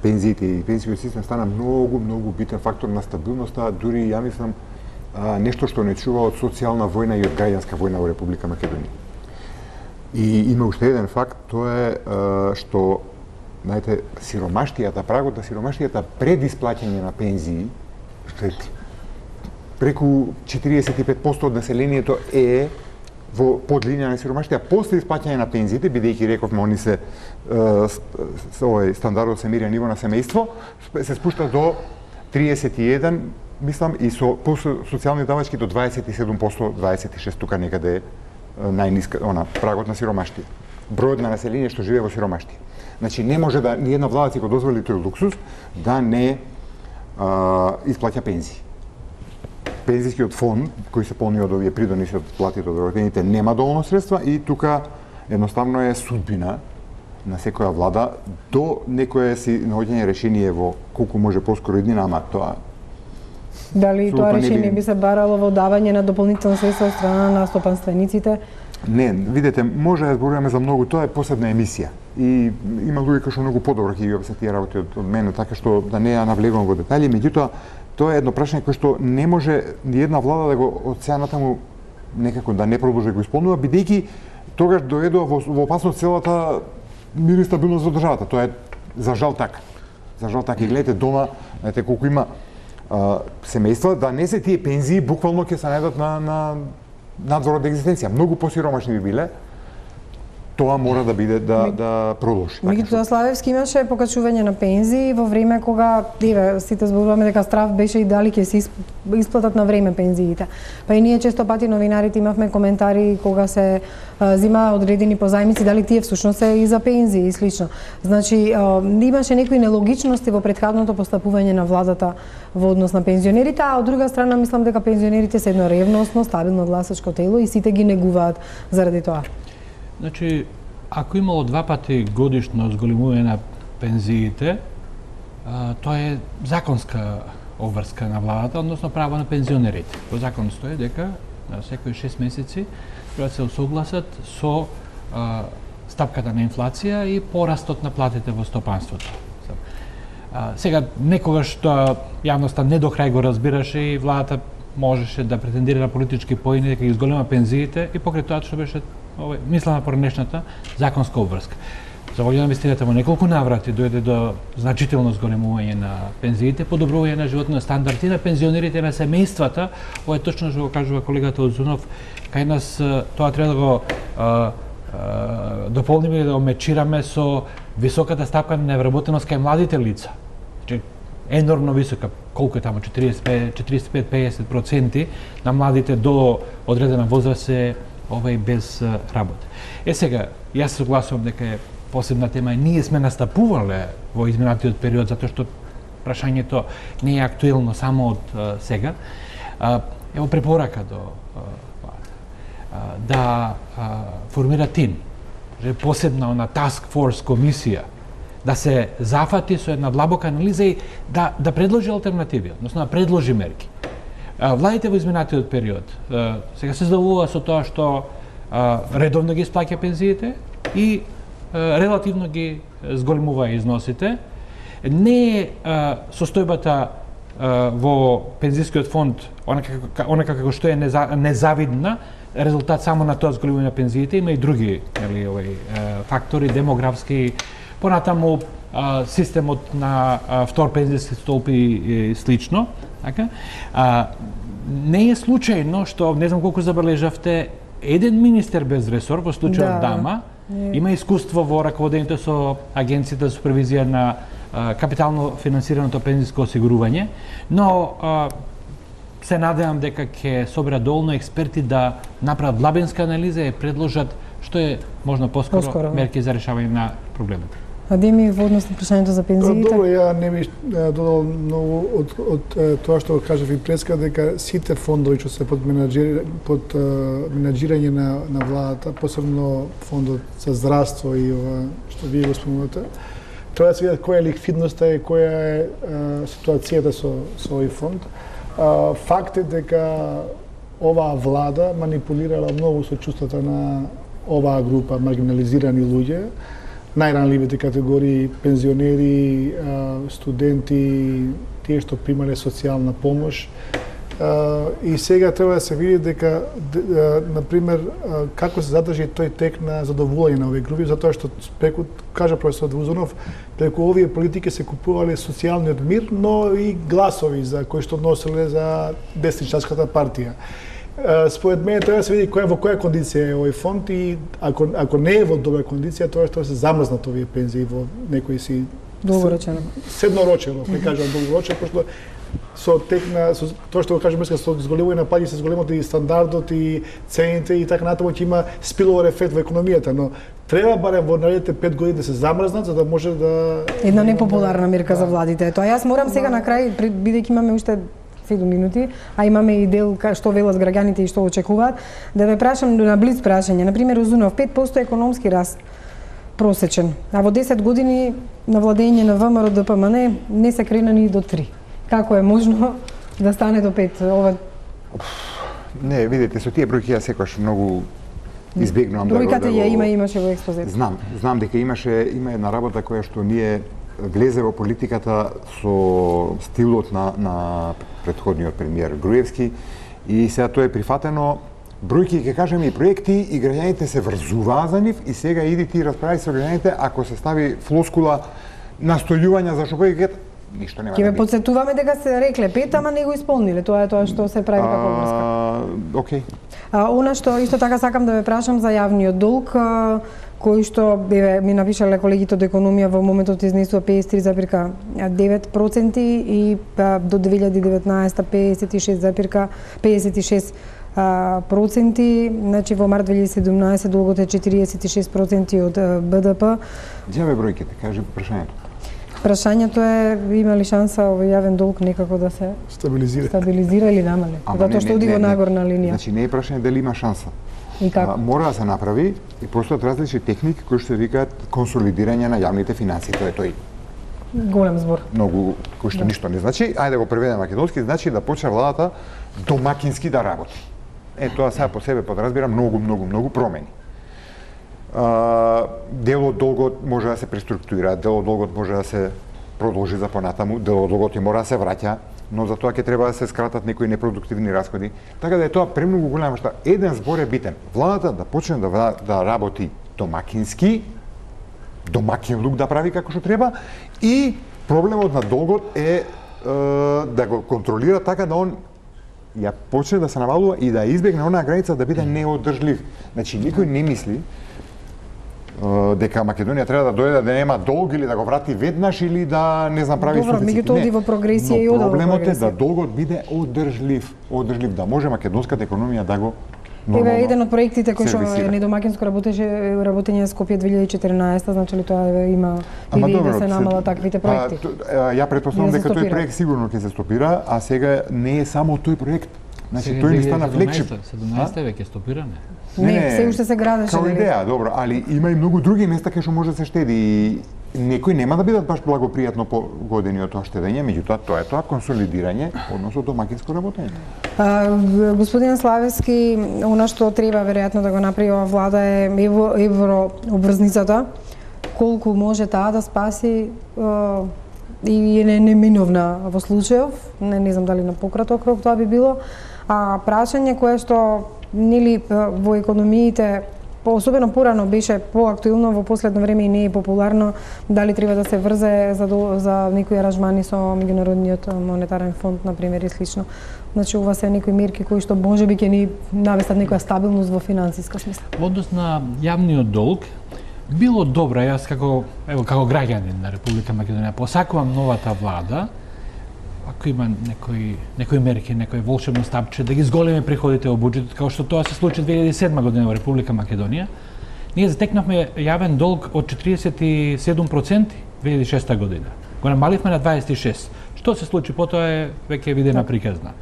пензиите и пензијскиот систем стана многу, многу битен фактор на стабилноста, дури ја мислам нешто што не чува од социјална војна и од граѓанска војна во Република Македонија. И има уште еден факт, тоа е што, знаете, сиромаштијата, прагот на сиромаштијата пред исплаќање на пензии, што е преку четириесет и пет проценти од населението е во подлинија на сиромаштија, после исплаќање на пензиите, бидејќи рековме они се овој стандардот се мери ниво на семејство, се спушта до триесет и еден, мислам, и со социјални давачки до дваесет и седум проценти, дваесет и шест тука некаде е најниска, она, прагот на сиромаштија. Бројот на население што живее во сиромаштија. Значи, не може да ни една влада си го дозволи тој луксус да не а, исплаќа пензии. Пензискиот фонд, кој се полни од овие придоници од платите од вработените, нема доволно средства и тука едноставно е судбина на секоја влада до некое си наоѓање решение во колку може поскоро иднина, ама тоа дали тоа решение би се барало во давање на дополнителни средства од страна на стопанствениците? Не, видете, може да зборуваме за многу, тоа е посебна емисија. И има луѓе кои што многу подобро ќе ги објаснат тие работи од, од мене, така што да не ја навлегувам во детали, меѓутоа тоа е едно прашање кое што не може ни една влада да го од сега натаму некако да не продолжи го исполнува, бидејќи тогаш доведува во, во опасност целата мир и стабилност во државата. Тоа е за жал така. За жал така. И гледате дома, знаете колку има а, семејства, да не се тие пензии буквално ќе се најдат на, на надзор од екзистенција. Многу посиромашни би биле. Тоа мора да биде да да продолжи. Меѓутоа Славевски имаше покачување на пензии во време кога еве сите зборуваме дека страв беше и дали ќе се исплатат на време пензиите. Па и ние често пати новинарите имавме коментари кога се зима одредени позајмици дали тие всушност се и за пензии и слично. Значи имаше некои нелогичности во претходното постапување на владата во однос на пензионерите, а од друга страна мислам дека пензионерите се едно ревносно, стабилно гласачко тело и сите ги негуваат заради тоа. Значи, ако имало два пати годишно зголемување на пензиите, тоа е законска обврска на владата, односно право на пензионерите. Во закон стои дека на секои шест месеци треба да се усогласат со а, стапката на инфлација и порастот на платите во стопанството. А, сега, некогаш тоа јавноста не до крај го разбираше и владата можеше да претендира на политички поени дека ги зголема пензиите и покрај тоа што беше овој мислена поранешната законска обврска. За волја на вистината во неколку наврати дојде до значително зголемување на пензиите, подобрување на животниот стандард и на пензионерите, на семејствата. Ова е точно што го кажува колегата Озунов. Кај нас тоа треба да го а, а, дополниме и да омечираме со високата стапка на невработеност кај младите лица. Значи, енормно висока, колку е тамо, четириесет и пет до пеесет проценти на младите до одредена возраст се овај без работа. Е сега, јас се согласувам дека е посебна тема. Ние сме настапувале во изминатиот период затоа што прашањето не е актуелно само од а, сега. А, ево препорака до а, да а, формира тим, посебна на task force комисија, да се зафати со една длабока анализа и да да предложи алтернативи, односно да предложи мерки. Владите во изминатиот период сега се задоволува со тоа што редовно ги исплаќа пензиите и релативно ги зголемува износите. Не е состојбата во пензискиот фонд онака како што е незавидна, резултат само на тоа зголемување на пензиите, има и други, нели, овој фактори демографски, понатаму системот на втор пензиски столб и слично, така. А, не е случајно што, не знам колку забележавте, еден министер без ресор, во случајот да, Дама, не. Има искуство во раководењето со Агенцијата за супервизија на а, капитално финансираното пензиско осигурување, но а, се надевам дека ќе соберат доволно експерти да направат длабинска анализа и предложат што е можно поскоро, поскоро мерки за решавање на проблемот. Адеми во однос на прашањето за пензиите? Добро, ја не би додал многу од, од, од тоа што кажав и преска, дека сите фондови што се под, менаджир, под менаджирање на, на владата, посебно фондот за здравство и ова што вие го спомнувате, треба да се видат која е ликвидноста и која е а, ситуацијата со, со овој фонд. А, факт е дека оваа влада манипулирала многу со чувствата на оваа група маргинализирани луѓе, најранливите категории, пензионери, студенти, тие што примале социјална помош. И сега треба да се види дека, например, како се задржи тој тек на задоволување на овие групи, затоа што, преку, кажа професор Узунов, преку овие политики се купувале социјалниот мир, но и гласови за кои што носеле за десничарската партија. Според мене треба да се види која во која кондиција е овој фонд и ако ако не е во добра кондиција, тоа што се замрзнат овие пензии во некои си долгорочено. Седнорочено, не кажам долгорочено, пошто со тек на со тоа што го кажам со зголемување на пари се зголемот и стандардот и цените и така натаму ќе има спиловер ефект во економијата, но треба барем во наредните пет години да се замрзнат за да може да една непопуларна мерка да. За владите. Тоа јас морам сега на крај, бидејќи имаме уште седум минути, а имаме и дел што велат граѓаните и што очекуваат, да ве прашам на блиц прашање. На пример, Узунов, пет проценти економски раст просечен, а во десет години на владење на ВМРО Д П М Н не се крена ни до три. Како е можно да стане до пет? Ова... Не, видите, со тие бројки ја секогаш многу избегнувам да го... Бројката ја има, имаше во експозиција. Знам, знам дека имаше, има една работа која што ние влезе во политиката со стилот на, на предходниот премиер Груевски и сега тоа е прифатено бројки ќе кажеме и проекти и граѓаните се врзуваат за нив и сега иди ти расправи со граѓаните ако се стави флоскула настојувања за шопојкет, ништо нема. Ќе ве потсетуваме дека се рекле пет, ама не го исполниле. Тоа е тоа што се прави како врска. Окей. А, она што исто така сакам да ве прашам за јавниот долг, а, кој што бе ми напишале колегите од економија во моментот изнесува педесет и три запирка девет проценти и а, до две илјади и деветнаесета педесет и шест запирка педесет и шест проценти, значи во март две илјади и седумнаесета долгот е четиридесет и шест проценти од Б Д П. Ѓаве бројките, кажи прашањето. Прашањето е има ли шанса овој јавен долг некако да се стабилизира, стабилизира или намале? Затоа што оди во нагорна линија. Значи не е прашање дали има шанса. И како? А, мора да се направи и постојат различни техники кои што се викаат консолидирање на јавните финансии. Тоа е тој голем збор. Многу кој што да. ништо не значи, ајде да го преведеме македонски, значи да почне владата домакински да работи. Е тоа сега по себе подразбира многу многу многу промени. Uh, дел од долгот може да се преструктурира, дел од долгот може да се продолжи за понатаму, дел од долгот и мора да се враќа, но за тоа ќе треба да се скратат некои непродуктивни расходи. Така да е тоа премногу голема што еден збор е битен. Владата да почне да, да работи домакински, домакин лук да прави како што треба и проблемот на долгот е, е да го контролира така да он ја почне да се навалува и да избегне онаа граница да биде неодржлив. Значи никој не мисли дека Македонија треба да дојде да нема долг или да го врати веднаш или да не знам прави суфицит. Добро, меѓутоа оди во прогресија и ода во прогресија. Проблемот е да долгот биде одржлив, одржлив да може македонската економија да го нормално. Еве еден од проектите кој што е недомакинско работеше работење на Скопје две илјади и четиринаесета, значи ли тоа има идеја да се намалат таквите проекти. А, ја претпоставувам дека тој проект сигурно ќе се стопира, а сега не е само тој проект. Значи тој не стана флекшип. седумнаесета веќе стопиране. Не, не, се уште се градеше. Како идеја, добро, али има и многу други места кај што може да се штеди и некои нема да бидат баш благопријатно погодени од тоа штедење, меѓутоа тоа е тоа консолидирање, односно домакинско работење. А, господин Славевски, она што треба веројатно да го направи ова влада е евро, евро обврзницата, колку може таа да спаси а, и е неминовна во случајов, не, не знам дали на пократок рок тоа би било, а прашање кое што нели во економиите особено порано беше поактуелно, во последно време и не е популарно, дали треба да се врзе за, до, за некои аранжмани со меѓународниот монетарен фонд, например, и слично. Значи, ова се некои мерки кои што можеби ќе ни навестат некоја стабилност во финансиска смисла. Во однос на јавниот долг, било добро, јас како, ево, како граѓанин на Република Македонија, посакувам новата влада, ако има некои некои мерки, некој волшебно стапче да ги зголеми приходите во буџетот, како што тоа се случи две илјади и седма година во Република Македонија. Ние затекнавме јавен долг од четиридесет и седум проценти две илјади и шеста година. Го намаливме на дваесет и шест. Што се случи потоа е веќе видена приказна.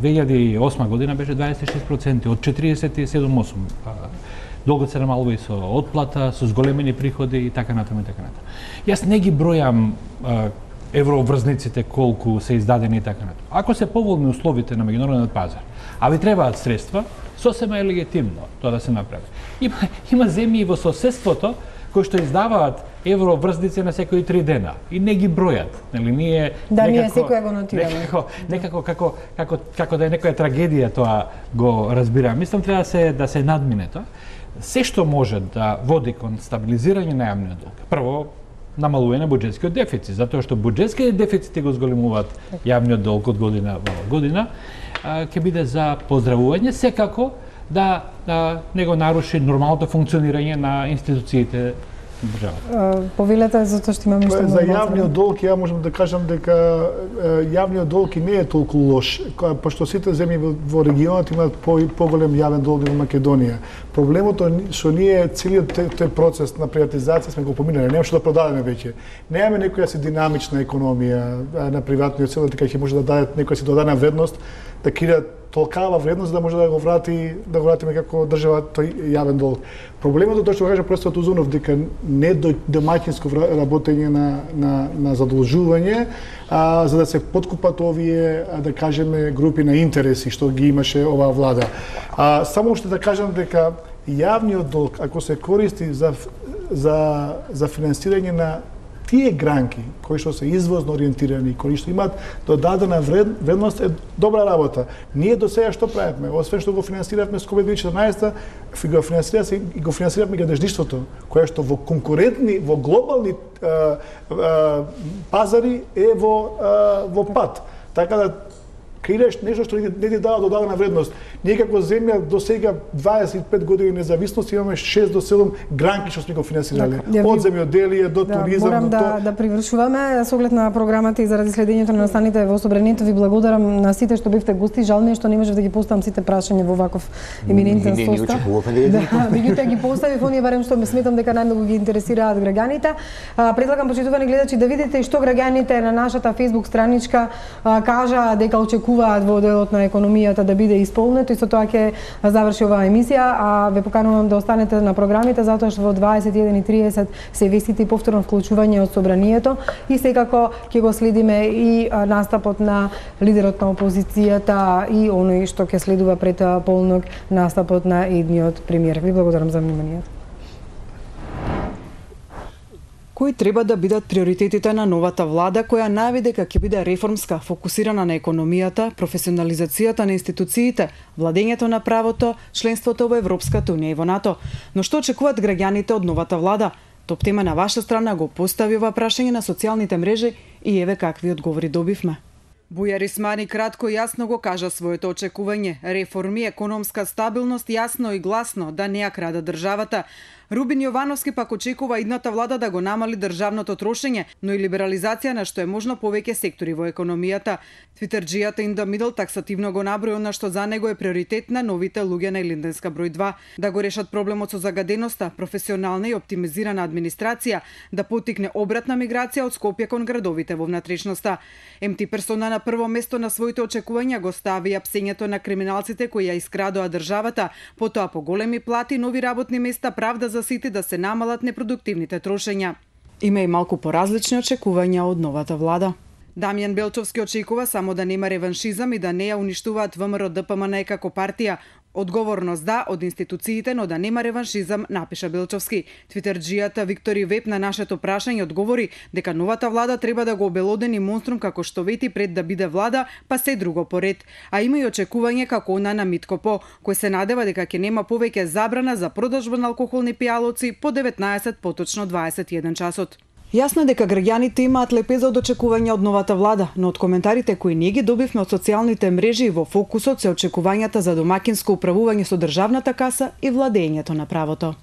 две илјади и осма година беше дваесет и шест проценти од четиридесет и седум осум. Долгот се намалува и со отплата, со зголемени приходи и така натаму и така натаму. Јас не ги бројам еврообврзниците колку се издадени и така натаму. Ако се поволни условите на меѓународниот пазар, а ви требаат средства, сосема е легитимно тоа да се направи. Има има земји во соседството кои што издаваат еврообврзници на секои три дена и не ги бројат, нели ние да ние секоја го нотираме. Некако, некако како како како да е некоја трагедија тоа го разбирам. Мислам треба да се да се надмине тоа. Се што може да води кон стабилизирање на јавниот долг. Прво намалување на буџетскиот дефицит, затоа што буџетските дефицити го зголемуваат јавниот долг од година во година, ќе биде за поздравување, секако да, да не го наруши нормалното функционирање на институциите на државата. Повелете, затоа што имаме што за јавниот долг, ја можам да кажам дека јавниот долг и не е толку лош, пошто сите земји во регионот имаат по, поголем јавен долг во Македонија. Проблемот е што ние целиот тој процес на приватизација сме го поминали, нема што да продадеме веќе. Немаме некоја си динамична економија на приватниот сектор, дека ќе може да даде некоја си додадена вредност, да креира толкава вредност да може да го врати, да го вратиме како држава тој јавен долг. Проблемот е тоа што кажа професор Узунов, дека не до домаќинско работење на на на задолжување, а, за да се подкупат овие, да кажеме, групи на интереси што ги имаше оваа влада. А само уште да кажам дека јавниот долг ако се користи за за за финансирање на тие гранки кои што се извозно ориентирани, кои што имаат додадена вредност е добра работа. Ние до сега што правевме? Освен што го финансиравме со ковид две тисячи и четрнаесетта, го финансиравме и го финансиравме гадежништвото, кое што во конкурентни, во глобални а, а, пазари е во а, во пат. Така да креираш нешто што не ти дава додадена вредност. Ние како земја до сега дваесет и пет години независност имаме шест до седум гранки што сме го финансирале. Да, од земјоделие до да, туризам. Морам до да, то... да привршуваме со оглед на програмата и заради следењето на настаните во собранието. Ви благодарам на сите што бевте гости. Жал ми е што не можев да ги поставам сите прашања во ваков еминентен состав. Да, меѓутоа ги поставив оние барем што ме сметам дека најмногу ги интересираат граѓаните. Предлагам почитувани гледачи да видите што граѓаните на нашата Facebook страничка кажа дека очекуваат во делот на економијата да биде исполнето и со тоа ќе заврши оваа емисија, а ве поканувам да останете на програмите затоа што во дваесет и еден и тридесет се вестите и повторно вклучување од собранието и секако ќе го следиме и настапот на лидерот на опозицијата и оној што ќе следува пред полнок настапот на едниот премиер. Ви благодарам за вниманието. Кои треба да бидат приоритетите на новата влада, која најави дека ќе биде реформска, фокусирана на економијата, професионализацијата на институциите, владењето на правото, членството во Европската унија и во НАТО. Но што очекуваат граѓаните од новата влада? Топ тема на ваша страна го постави ова прашање на социјалните мрежи и еве какви одговори добивме. Бујар Исмани кратко и јасно го кажа своето очекување. Реформи, економска стабилност, јасно и гласно, да не ја крада државата. Рубин Јовановски пак очекува идната влада да го намали државното трошење, но и либерализација на што е можно повеќе сектори во економијата. Твитерџијата In the Middle таксативно го наброи она што за него е приоритет на новите луѓе на Илинденска број два, да го решат проблемот со загаденоста, професионална и оптимизирана администрација, да потикне обратна миграција од Скопје кон градовите во внатрешноста. Ем Ти персона на прво место на своите очекувања го стави апсењето на криминалците кои ја искрадоа државата, потоа по големи плати, нови работни места, правда за сите, да се намалат непродуктивните трошења. Има и малку поразлични очекувања од новата влада. Дамјан Белчовски очекува само да нема реваншизам и да не ја уништуваат ВМРО Д П М Н како партија. Одговорност да од институциите, но да нема реваншизам, напиша Белчовски. Твитерџијата Виктори Веб на нашето прашање одговори дека новата влада треба да го обелодени монструм како што вети пред да биде влада, па се друго поред. А има и очекување како она на Митко По, кој се надева дека ќе нема повеќе забрана за продажба на алкохолни пијалоци по деветнаесет, поточно дваесет и еден часот. Јасно е дека граѓаните имаат лепеза од очекувања од новата влада, но од коментарите кои ние ги добивме од социјалните мрежи во фокусот се очекувањата за домакинско управување со државната каса и владењето на правото.